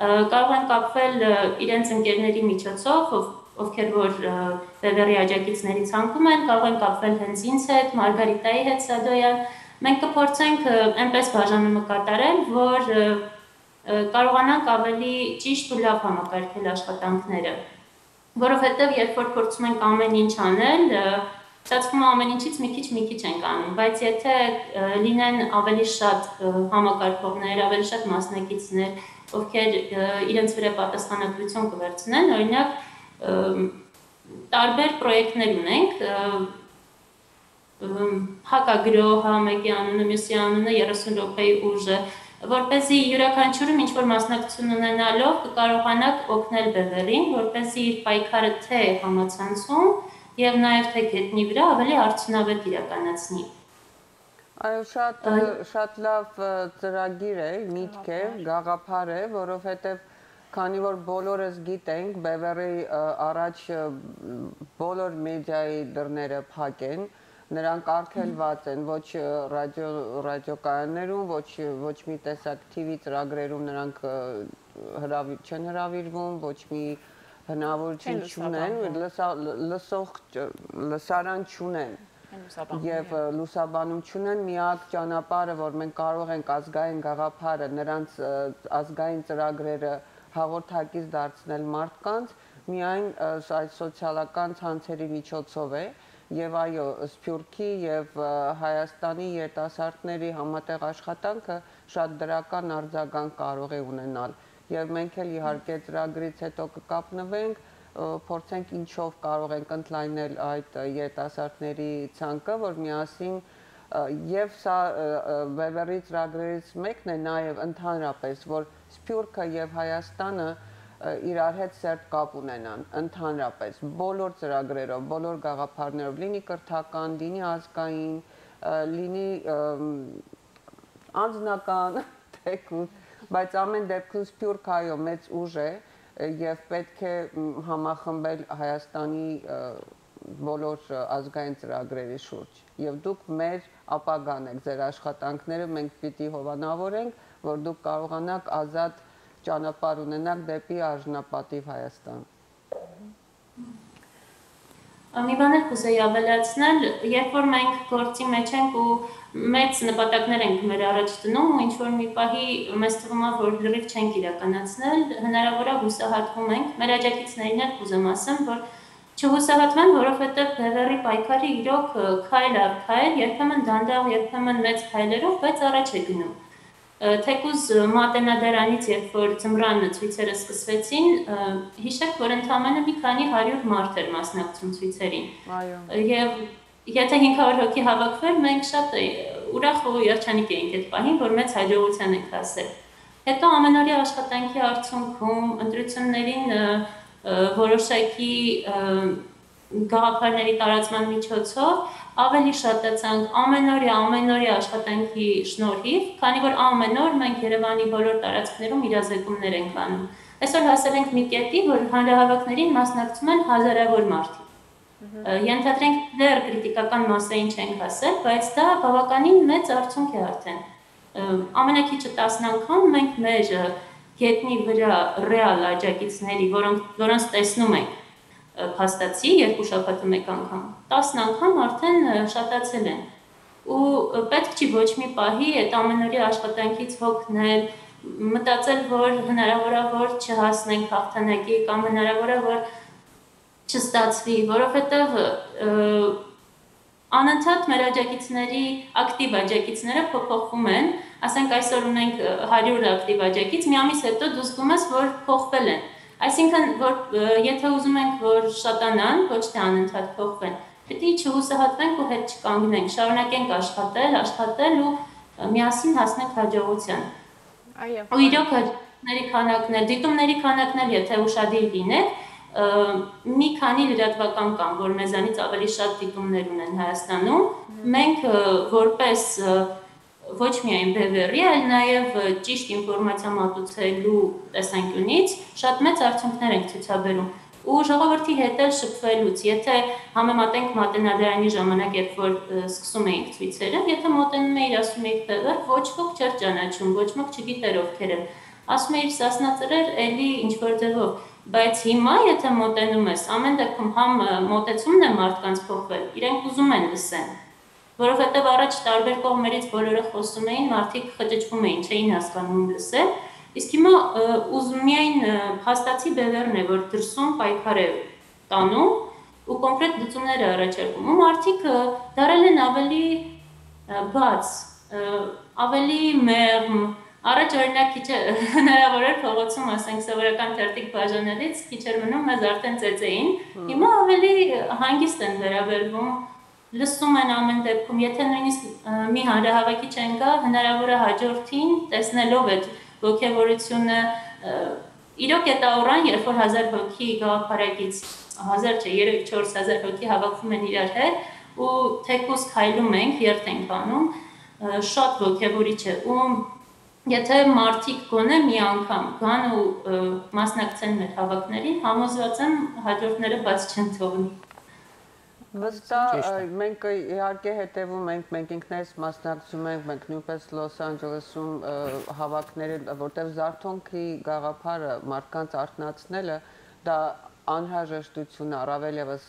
Speaker 5: կարող են կապվել իրենց ընկերների միջոցով, ովքեր որ Բևեռի աջակիցների ցանկում են, կարող են կապվել հենց ինձ հետ, Մարգարիտայի հետ Սադոյան։ Մենք կփորձենք այնպես բաժանումը կատարել, որ կարողանանք ավելի ճիշտ ու լավ համակարգել աշխատանքները, որովհետև երբ որ փորձում ենք ամեն ինչ անել, ստացվում է ամեն ինչից մի քիչ ենք անում, բայց եթե լինեն ավելի շատ համակարգողներ, ավելի շատ մասնակիցներ, ովքեր իրենց վրա պատասխանատվություն կվերցնեն, օրինակ տարբեր պրոյեկտներ ունենք, հակագրոհ, մեկի անունը, մյուսի անունը, 30 րոպեի ուժը, որպեսզի յուրաքանչյուրում ինչ-որ մասնակցություն ունենալով կկարողանաք օգնել Բևեռին, որպեսզի իր պայքարը թե համացանցում եւ նաեւ թե գետնի վրա ավելի արդյունավետ իրականացնի։
Speaker 2: Այո, շատ լավ ծրագիր է, միտք է, գաղափար է, որովհետեւ քանի որ բոլորս գիտենք, Բևեռի առաջ բոլոր մեդիայի դռները փակ են, նրանք արգելված են, ոչ ռադիոկայաններում, ոչ մի տեսակ TV ծրագրերում նրանք չեն հրավիրվում, ոչ մի հնարավորություն չունեն, լսարան չունեն եւ լուսաբանում չունեն, միակ ճանապարհը, որ մենք կարող ենք ազգային գաղափարը, նրանց ազգային ծրագրերը հաղորդակից դարձնել մարդկանց, միայն այդ սոցիալական ցանցերի միջոցով է եւ այո, Սփյուռքի եւ Հայաստանի երիտասարդների համատեղ աշխատանքը շատ դրական արձագանք կարող է ունենալ եւ մենք էլ իհարկե ծրագրից հետո կկապնվենք, փորձենք ինչով կարող ենք ընդլայնել այդ երիտասարդների ցանկը, որ միասին եւ սա Բևեռի ծրագրերից մեկն է նաեւ ընդհանրապես, որ Սփյուռքը եւ Հայաստանը իրար հետ սերտ կապ ունենան, ընդհանրապես, բոլոր ծրագրերով, բոլոր գաղափարներով, լինի կրթական, լինի ազգային, լինի անձնական, թեկուզ, բայց ամեն դեպքում Սփյուռքը այո մեծ ուժ է եւ պետք է համախմբել Հայաստանի բոլոր ազգային ծրագրերի շուրջ եւ դուք մեր ապագան եք, ձեր աշխատանքները մենք պիտի հովանավորենք, որ դուք կարողանաք ազատ ճանապարհ ունենանք դեպի արժանապատիվ Հայաստան։
Speaker 5: Մի բան էլ կուզեի ավելացնել, երբ որ մենք գործի մեջ ենք ու մեծ նպատակներ ենք մեր առաջ դնում ու ինչ-որ մի պահի մեզ թվում է, որ լրիվ չենք իրականացնել, հնարավոր է հուսահատվում ենք, մեր աջակիցներին էլ կուզեմ ասեմ, որ չհուսահատվեն, որովհետև Բևեռի պայքարը իրոք քայլ առ քայլ, երբեմն դանդաղ, երբեմն մեծ քայլերով, բայց առաջ է գնում։ Թեկուզ Մատենադարանից, երբ որ ձմռան ցույցերը սկսվեցին, հիշեք, որ ընդամենը մի քանի 100 մարդ էր մասնակցում ցույցերին։ Եվ եթե 500 հոգի հավաքվեր, մենք շատ ուրախ ու երջանիկ էինք այդ պահին, որ մեծ հաջողության ենք հասել։ Հետո ամենօրյա աշխատանքի արդյունքում ընտրություններին որոշակի գաղափարների տարածման միջոցով ավելի շատացանք ամենօրյա աշխատանքի շնորհիվ, քանի որ ամեն օր մենք Երևանի բոլոր տարածքներում իրազեկումներ ենք անում։ Այսօր հասել ենք մի կետի, որ հանրահավաքներին մասնակցում են հազարավոր մարդիկ։ Ենթադրենք դեռ կրիտիկական մասային չենք հասել, բայց դա բավականին մեծ արդյունք է արդեն։ Ամենակիչը 10 անգամ մենք մեր գետնի վրա ռեալ աջակիցների, որոնց տեսնում ենք փաստացի 2 շաբաթը մեկ անգամ, 10 անգամ արդեն շատացել են։ Ու պետք չի ոչ մի պահի այդ ամենօրյա աշխատանքից հոգնել, մտածել, որ հնարավոր է որ չհասնենք հաղթանակի կամ հնարավոր է որ չստացվի, որովհետև Անընդհատ մեր աջակիցների ակտիվ աջակիցները փոփոխվում են, ասենք այսօր ունենք 100 ակտիվ աջակից, մի ամիս հետո դու զգում ես, որ փոխվել են։ Այսինքն, որ եթե ուզում ենք, որ շատանան, ոչ թե անընդհատ փոխվեն, պետք է չհուսահատվենք ու հետ չկանգնենք, շարունակենք աշխատել ու միասին հասնենք հաջողության։
Speaker 3: Այո։
Speaker 5: Ու իրոք դիտումների քանակն էլ եթե ուշադիր լինեք, մի քանի լրատվական կան, որ մեզանից ավելի շատ դիտումներ ունեն Հայաստանում, մենք որպես ոչ միայն բևեռի, այլ նաև ճիշտ ինֆորմացիա մատուցելու տեսանկյունից շատ մեծ արդյունքներ ենք ցուցաբերում։ Ու ժողովրդի հետ էլ շփվելուց, եթե համեմատենք մատենադարանի ժամանակ, երբ որ սկսում էինք ցույցերը, եթե մոտենում էիր ասում էիր բևեռ, ոչ ոք չէր ճանաչում, ոչ ոք չգիտեր ովքեր են։ Ասում էիր սասնածրեր, էլի ինչ որ ձևով, բայց հիմա եթե մոտենում ես, ամեն դեպքում համ մոտեցումն է մարդկանց փոխվել, իրենք ուզում են լսեն, որովհետև առաջ տարբեր կողմերից բոլորը խոսում էին, մարդիկ խճճվում էին, չէին հասկանում լսել, իսկ հիմա միայն հաստացի բևեռն է, որ դրսում պայքար է տանում ու կոնկրետ լուծումներ է առաջարկում, ու մարդիկ դարել են ավելի բաց, ավելի մեղմ, առաջ օրինակ քիչ հնարավոր էր փողոցում, ասենք սովորական թերթիկ բաժանելից, քիչ էր մնում, մեզ արդեն ծեծեին, հիմա ավելի հանգիստ են վերաբերվում, լսում են ամեն դեպքում, եթե նույնիսկ մի հանրահավաքի չեն գա, հնարավոր է հաջորդին տեսնելով այդ ոգևորությունը, իրոք այդ օրան, երբ որ 1000 հոգի գաղափարակից, 1000 չէ, 3-4 հազար հոգի հավաքվում են իրար հետ ու թեկուզ քայլում ենք, երթ ենք անում, շատ ոգևորիչ է ու եթե մարդիկ գոնե մի անգամ գան ու մասնակցեն մեր հավաքներին, համոզված եմ հաջորդները բաց չեն թողնի։
Speaker 2: Վստահ մենք իհարկե հետևում ենք, մենք ինքներս մասնակցում ենք, մենք նույնպես Լոս Անջելեսում հավաքները, որտեղ զարթոնքի գաղափարը մարդկանց արթնացնելը, դա անհրաժեշտություն, առավել ևս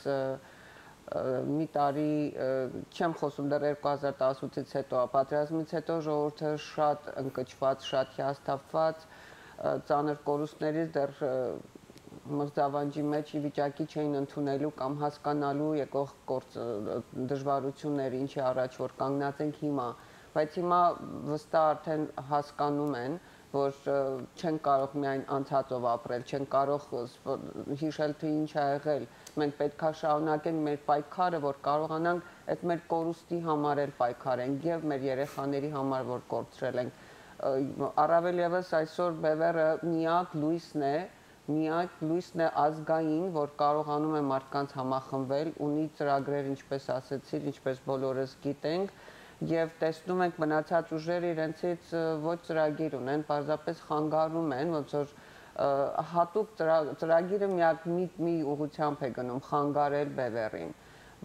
Speaker 2: մի տարի չեմ խոսում դեռ 2018-ից հետո, պատերազմից հետո ժողովուրդը շատ ընկճված, շատ հիասթափված, ծանր կորուստներից դեռ մրցավանջի մեջ ի վիճակի չէին ընդունելու կամ հասկանալու եկող դժվարությունները, ինչի առաջ որ կանգնած ենք հիմա, բայց հիմա վստահ արդեն հասկանում են, որ չեն կարող միայն անցածով ապրել, չեն կարող հիշել թե ինչ ա եղել, մենք պետք է շարունակենք մեր պայքարը, որ կարողանանք այդ մեր կորուստի համար էլ պայքարենք եւ մեր երեխաների համար, որ կորցրել ենք, առավել ևս այսօր բևեռը միակ լույսն է ազգային, որ կարողանում է մարդկանց համախմբել, ունի ծրագրեր, ինչպես ասեցիր, ինչպես բոլորս գիտենք, եւ տեսնում ենք մնացած ուժերը իրենցից ոչ ծրագիր ունեն, պարզապես խանգարում են, ոնց որ հատուկ ծրագիրը միակ մի ուղղությամբ է գնում, խանգարել բևեռին,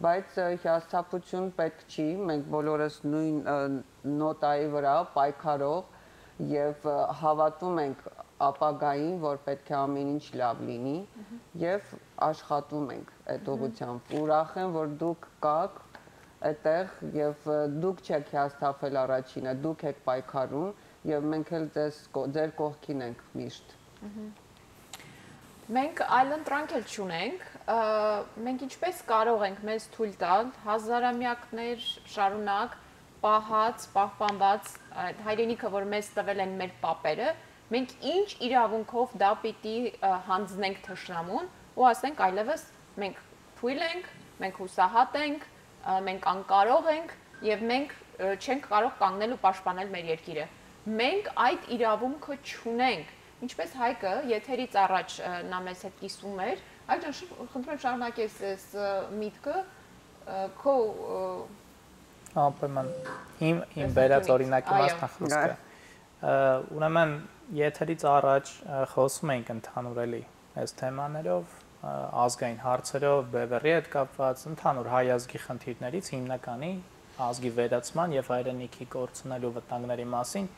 Speaker 2: բայց հիասթափություն պետք չի, մենք բոլորս նույն նոտայի վրա պայքարող եւ հավատում ենք ապագային, որ պետք է ամեն ինչ լավ լինի եւ աշխատում ենք այդ ուղղությամբ, ուրախ եմ, որ դուք կաք այդտեղ եւ դուք չեք հիասթափել առաջինը, դուք եք պայքարում եւ մենք էլ ձեր կողքին ենք միշտ։
Speaker 3: Մենք այլընտրանք էլ չունենք, մենք ինչպես կարող ենք մեզ թույլ տալ հազարամյակներ շարունակ պահած, պահպանված հայրենիքը, որ մեզ տվել են մեր պապերը, մենք ինչ իրավունքով դա պիտի հանձնենք թշնամուն ու ասենք այլևս մենք թույլ ենք, մենք հուսահատ ենք, մենք անկարող ենք եւ մենք չենք կարող կանգնել ու պաշտպանել մեր երկիրը։ Մենք այդ իրավունքը չունենք։ Ինչպես Հայկը եթերից առաջ նա մեզ հետ կիսում էր, այլ խնդրում եմ շարունակես այս միտքը քո
Speaker 4: Ապերման իմ վերած օրինակի մասնախոսքը։ Ուրեմն եթերից առաջ խոսում էինք ընդհանուր էլի այս թեմաներով, ազգային հարցերով, բևեռի հետ կապված, ընդհանուր հայ ազգի խնդիրներից հիմնականի ազգի վերացման եւ հայրենիքի կորցնելու վտանգների մասին։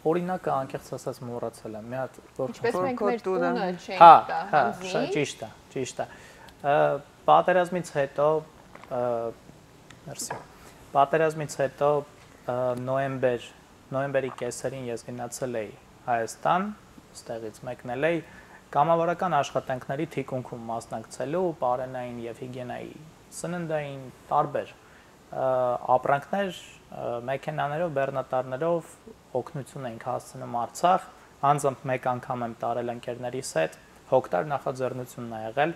Speaker 4: Օրինակը անկեղծ ասած մոռացել եմ, մի հատ
Speaker 3: ինչպես մենք մեր տունը չենք տա հանձնի։
Speaker 4: Ճիշտ է։ Պատերազմից հետո Պատերազմից հետո նոյեմբերի կեսերին ես գնացել էի Հայաստան, ստեղից մեկնել էի կամավորական աշխատանքների թիկունքում մասնակցելու պարենային եւ հիգիենայի սննդային տարբեր ապրանքներ մեքենաներով, բեռնատարներով օգնություն ենք հասցնում Արցախ, անձամբ մեկ անգամ եմ տարել ընկերներիս հետ, հոկտար նախաձեռնությունն ա եղել,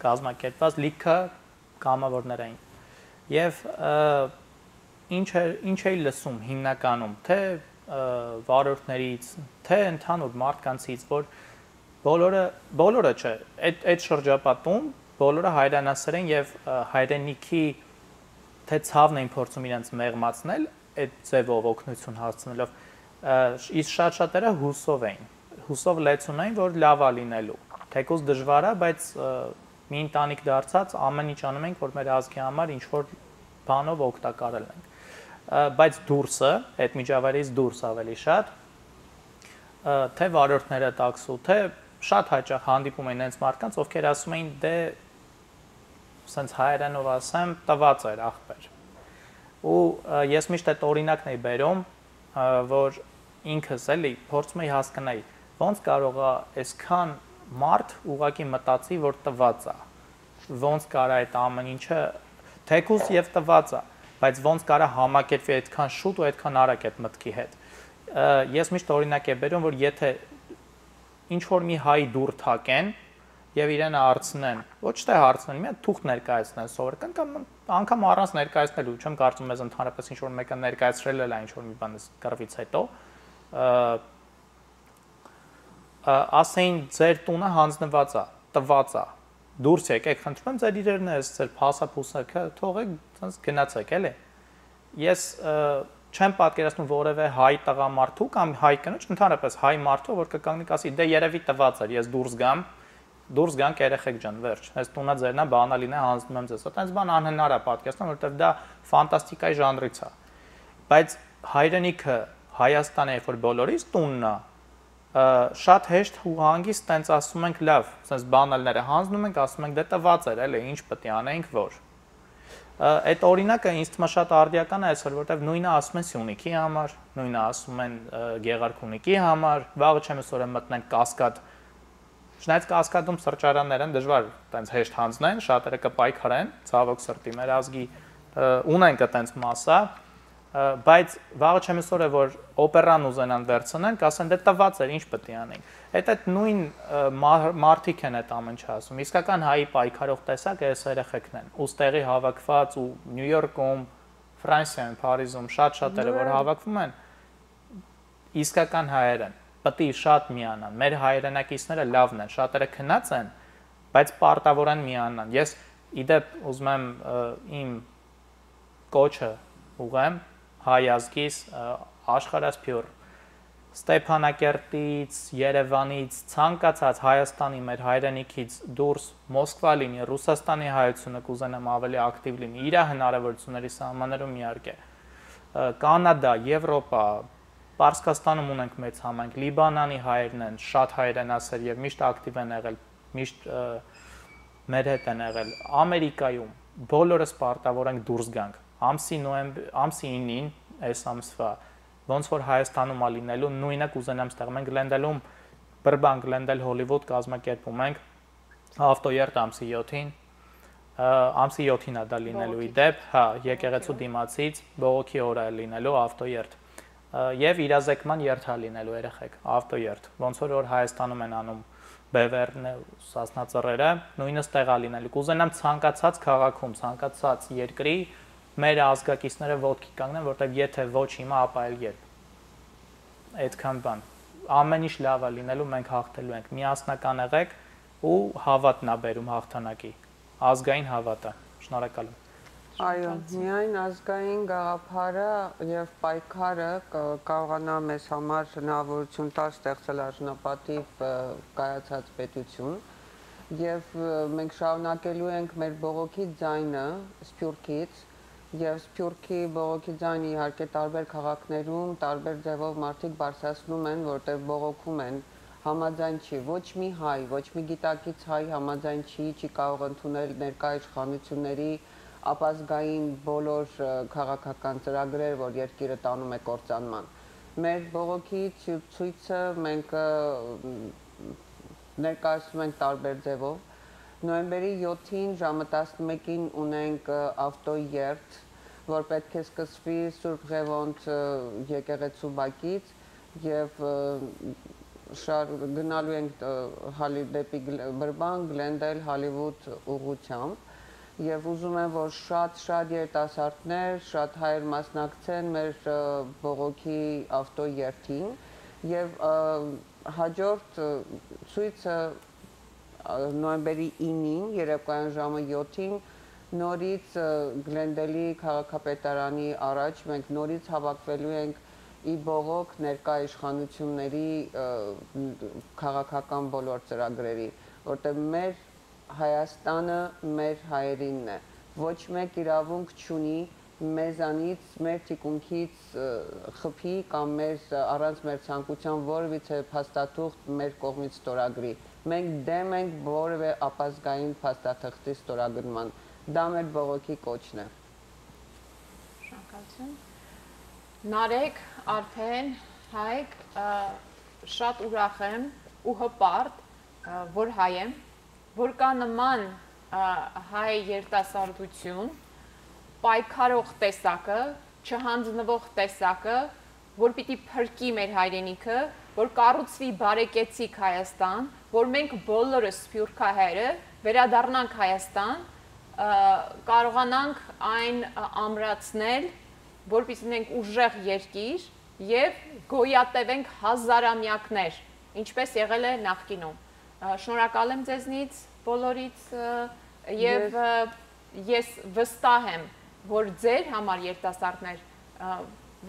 Speaker 4: կազմակերպված լիքը կամավորներ էին։ Եվ ինչ էի լսում հիմնականում, թե վարորդներից, թե ընդհանուր մարդկանցից, որ բոլորը չէ, այդ շրջապատում բոլորը հայրենասեր են եւ հայրենիքի թե ցավն էին փորձում իրենց մեղմացնել այդ ձևով օգնություն հասցնելով, իսկ շատ-շատերը հուսով լեցուն էին, որ լավ է լինելու, թեկուզ դժվար է, բայց մի ընտանիք դարձած ամեն ինչ անում ենք, որ մեր ազգի համար ինչ-որ բանով օգտակար լինենք, բայց դուրսը, այդ միջավայրից դուրս ավելի շատ, թե վարորդները տաքսու, թե շատ հաճախ հանդիպում են այնց մարդկանց, ովքեր ասում էին, դե սենց հայերենով ասեմ, տված էր ախպեր։ Ու ես միշտ այդ օրինակն էի բերում, որ ինքս էլի փորձում էի հասկանալ, ոնց կարող է այսքան մարդ ուղղակի մտածի, որ տված է, ոնց կարա այդ ամեն ինչը թեկուզ եւ տված է, բայց ոնց կարա համակերպվի այդքան շուտ ու այդքան արագ այդ մտքի հետ։ Ես միշտ օրինակ եմ բերում, որ եթե ինչ որ մի հայ դուր թակեն եւ իրեն հարցնեն, ոչ թե հարցնեն, մի հատ թուղթ ներկայացնեն սովորական կամ անգամ առանց ներկայացնելու, չեմ կարծում ես ընդհանրապես ինչ որ մեկը ներկայացրել է ինչ որ մի բան կռվից հետո, ասեին ձեր տունը հանձնված է, տված է, դուրս եկեք, խնդրում եմ ձեր իրերն է, ձեր փասափուսակը թողեք, ցած գնացեք, էլի։ Ես չեմ պատկերացնում որևէ հայ տղամարդու կամ հայ կնոջ, ընդհանրապես հայ մարդու, որ կկանգնի ասի, դե երևի տված էր, ես դուրս գանք երեխեք ջան, վերջ։ Այս տունը ձերն է, բանալին է, հանձնում եմ ձեզ։ Այդպես բան անհնար է պատկերացնել, որովհետև դա ֆանտաստիկայի ժանրից է։ Բայց հայրենիքը Հայաստանը, երբ որ բոլորիս տունն է, շատ հեշտ ու հանգիստ տենց ասում ենք լավ, sense բանալները հանձնում ենք, ասում ենք դե տված էր, էլի ինչ պետք է անենք, որ։ Այդ օրինակը ինձ թվում է շատ արդիական է այսօր, որովհետև նույնը ասում են Սյունիքի համար, նույնը ասում են Գեղարքունիքի համար, վաղը չեմ ասորը մտնենք Կասկադ։ Չնայած Կասկադում սրճարաններ են, դժվար տենց հեշտ հանձնեն, շատերը կպայքարեն, ցավոք սրտի մեր ազգի ունենք այդպես մասա, բայց վաղը չեմ ասորը որ օպերան ուզենան վերցնեն, կասեն դե տված էր, ինչ պետք է անենք։ Այդ նույն մարդիկ են այդ ամեն ինչ ասում։ Իսկական հայի պայքարող տեսակ այս երեխեքն են։ Ուստեղի հավաքված ու Նյու Յորքում, Ֆրանսիայում, Փարիզում շատ-շատերը որ հավաքվում են, իսկական հայեր են։ Պետք է շատ միանան։ Մեր հայրենակիցները լավն են, շատերը քնած են, բայց պարտավոր են միանան։ Ես իդեպ ուզում եմ իմ կոչը ուղղեմ հայ ազգիս աշխարհասփյուր Ստեփանակերտից, Երևանից, ցանկացած Հայաստանի մեր հայրենիքից դուրս Մոսկվա լինի, Ռուսաստանի հայությունը կուզենամ ավելի ակտիվ լինի, իր հնարավորությունների սահմաններում իհարկե։ Կանադա, Եվրոպա, Պարսկաստանում ունենք մեծ համայնք, Լիբանանի հայերն են, շատ հայրենասեր եւ միշտ ակտիվ են եղել, միշտ մեր հետ են եղել, Ամերիկայում բոլորս պարտավոր ենք դուրս գանք։ Ամսի 9-ին այս ամսվա ոնց որ Հայաստանում ա լինելու նույնը կուզենամ ստեղ մենք Գլենդելում բրբան Գլենդել Հոլիվուդ կազմակերպում ենք ավտոերտ ամսի 7-ին ամսի 7-ին ա դա լինելու իդեպ, հա, եկեղեցու դիմացից բողոքի օր է լինելու ավտոերտ եւ իրազեկման երթ ա լինելու երեխեք ավտոերտ ոնց որ Հայաստանում են անում բևերն ու սասնածռերը նույնը ստեղ ա լինելու կուզենամ ցանկացած քաղաքում ցանկացած երկրի մեր ազգակիցները ոտքի կանգնեն, որտեղ եթե ոչ հիմա, ապա այլ երբ։ Այդքան բան։ Ամեն ինչ լավ է լինելու, մենք հաղթելու ենք։ Միասնական եղեք ու հավատն է բերում հաղթանակի։ Ազգային հավատը։ Շնորհակալ եմ։
Speaker 2: Այո, միայն ազգային գաղափարը եւ պայքարը կարողանա մեզ համար հնարավորություն տալ ստեղծել արժանապատիվ կայացած պետություն եւ մենք շարունակելու ենք մեր բողոքի ձայնը Սփյուռքից Եվ Սփյուռքի բողոքի ձայնը իհարկե տարբեր քաղաքներում, տարբեր ձևով մարդիկ բարձրացնում են, որտեղ բողոքում են, համաձայն չի, ոչ մի հայ, ոչ մի գիտակից հայ համաձայն չի կարող ընդունել ներկա իշխանությունների ապազգային բոլոր քաղաքական ծրագրեր, որ երկիրը տանում է կործանման։ Մեր բողոքի ցույցը մենք ներկայացնում ենք տարբեր ձևով Նոյեմբերի 7-ին ժամը 11-ին ունենք ավտոերթ, որ պետք է սկսվի Սուրբ Ղևոնդ եկեղեցու բակից եւ գնալու ենք դեպի Բրբան, Գլենդել, Հոլիվուդ ուղղությամբ եւ ուզում եմ, որ շատ երիտասարդներ, շատ հայեր մասնակցեն մեր բողոքի ավտոերթին եւ հաջորդ ցույցը նոյեմբերի 9-ին, երեկոյան ժամը 7-ին նորից Գլենդելի քաղաքապետարանի առաջ մենք նորից հավաքվելու ենք ի բողոք ներկա իշխանությունների քաղաքական բոլոր ծրագրերի, որտեղ մեր Հայաստանը մեր հայերինն է, ոչ մեկ իրավունք չունի մեզանից, մեր թիկունքից խփի կամ առանց մեր ցանկության որևիցե փաստաթուղթ մեր կողմից ստորագրի։ Մենք դեմ ենք որևէ ապազգային փաստաթղթի ստորագրման։ Դա մեր բողոքի կոչն է։
Speaker 3: Շնորհակալություն։ Նարեկ, Արփեն, Հայկ, շատ ուրախ եմ ու հպարտ, որ հայ եմ, որ կա նման հայ երիտասարդություն, պայքարող տեսակը, չհանձնվող տեսակը, որ պիտի փրկի մեր հայրենիքը, որ կառուցվի բարեկեցիկ Հայաստան, որ մենք բոլորս սփյուռքահայերը վերադառնանք Հայաստան, կարողանանք այն ամրացնել, որպեսզի ունենք ուժեղ երկիր եւ գոյատևենք հազարամյակներ, ինչպես եղել է նախկինում։ Շնորհակալ եմ ձեզնից բոլորից եւ ես վստահ եմ, որ ձեր համար երիտասարդներ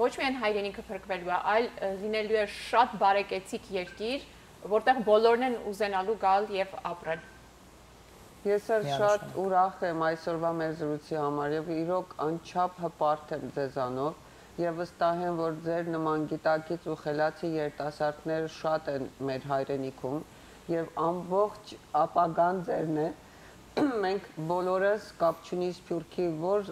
Speaker 3: ոչ միայն հայրենիքը փրկվելու է, այլ լինելու է շատ բարեկեցիկ երկիր, որտեղ բոլորն են ուզենալու գալ եւ ապրել։
Speaker 2: Ես շատ ուրախ եմ այսօրվա մեր զրույցի համար եւ իրոք անչափ հպարտ եմ ձեզանով եւ վստահ եմ, որ ձեր նման գիտակից ու խելացի երիտասարդներ շատ են մեր հայրենիքում եւ ամբողջ ապագան ձերն է։ Մենք բոլորս կապ չունի Սփյուռքի որ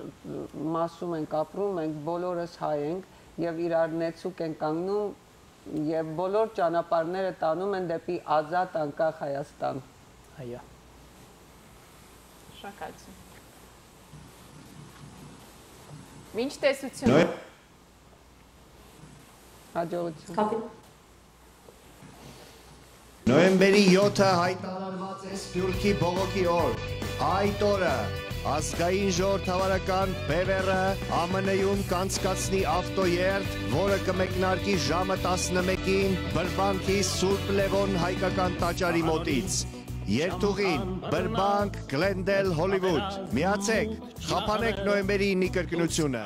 Speaker 2: մասում ենք ապրում, մենք բոլորս հայ ենք եւ իրար նեցուկ են կանգնում եւ բոլոր ճանապարհները տանում են դեպի ազատ անկախ Հայաստան։
Speaker 4: Այո։
Speaker 3: Շնորհակալություն։ Մինչ տեսություն։
Speaker 2: Հաջողություն։
Speaker 1: Նոյեմբերի 7-ը հայտարարված է Սփյուռքի բողոքի օր։ Այդ օրը ազգային ժողովրդավարական ԲՎՌ ԱՄՆ-ում կանցկացնի ավտոերթ, որը կմեկնարկի ժամը 11-ին Բրբանքի Սուրբ Լևոն հայկական տաճարի մոտից։ Երթուղին Բրբանք, Գլենդել, Հոլիվուդ։ Միացեք, խափանեք նոյեմբերի 9-ի կրկնությունը։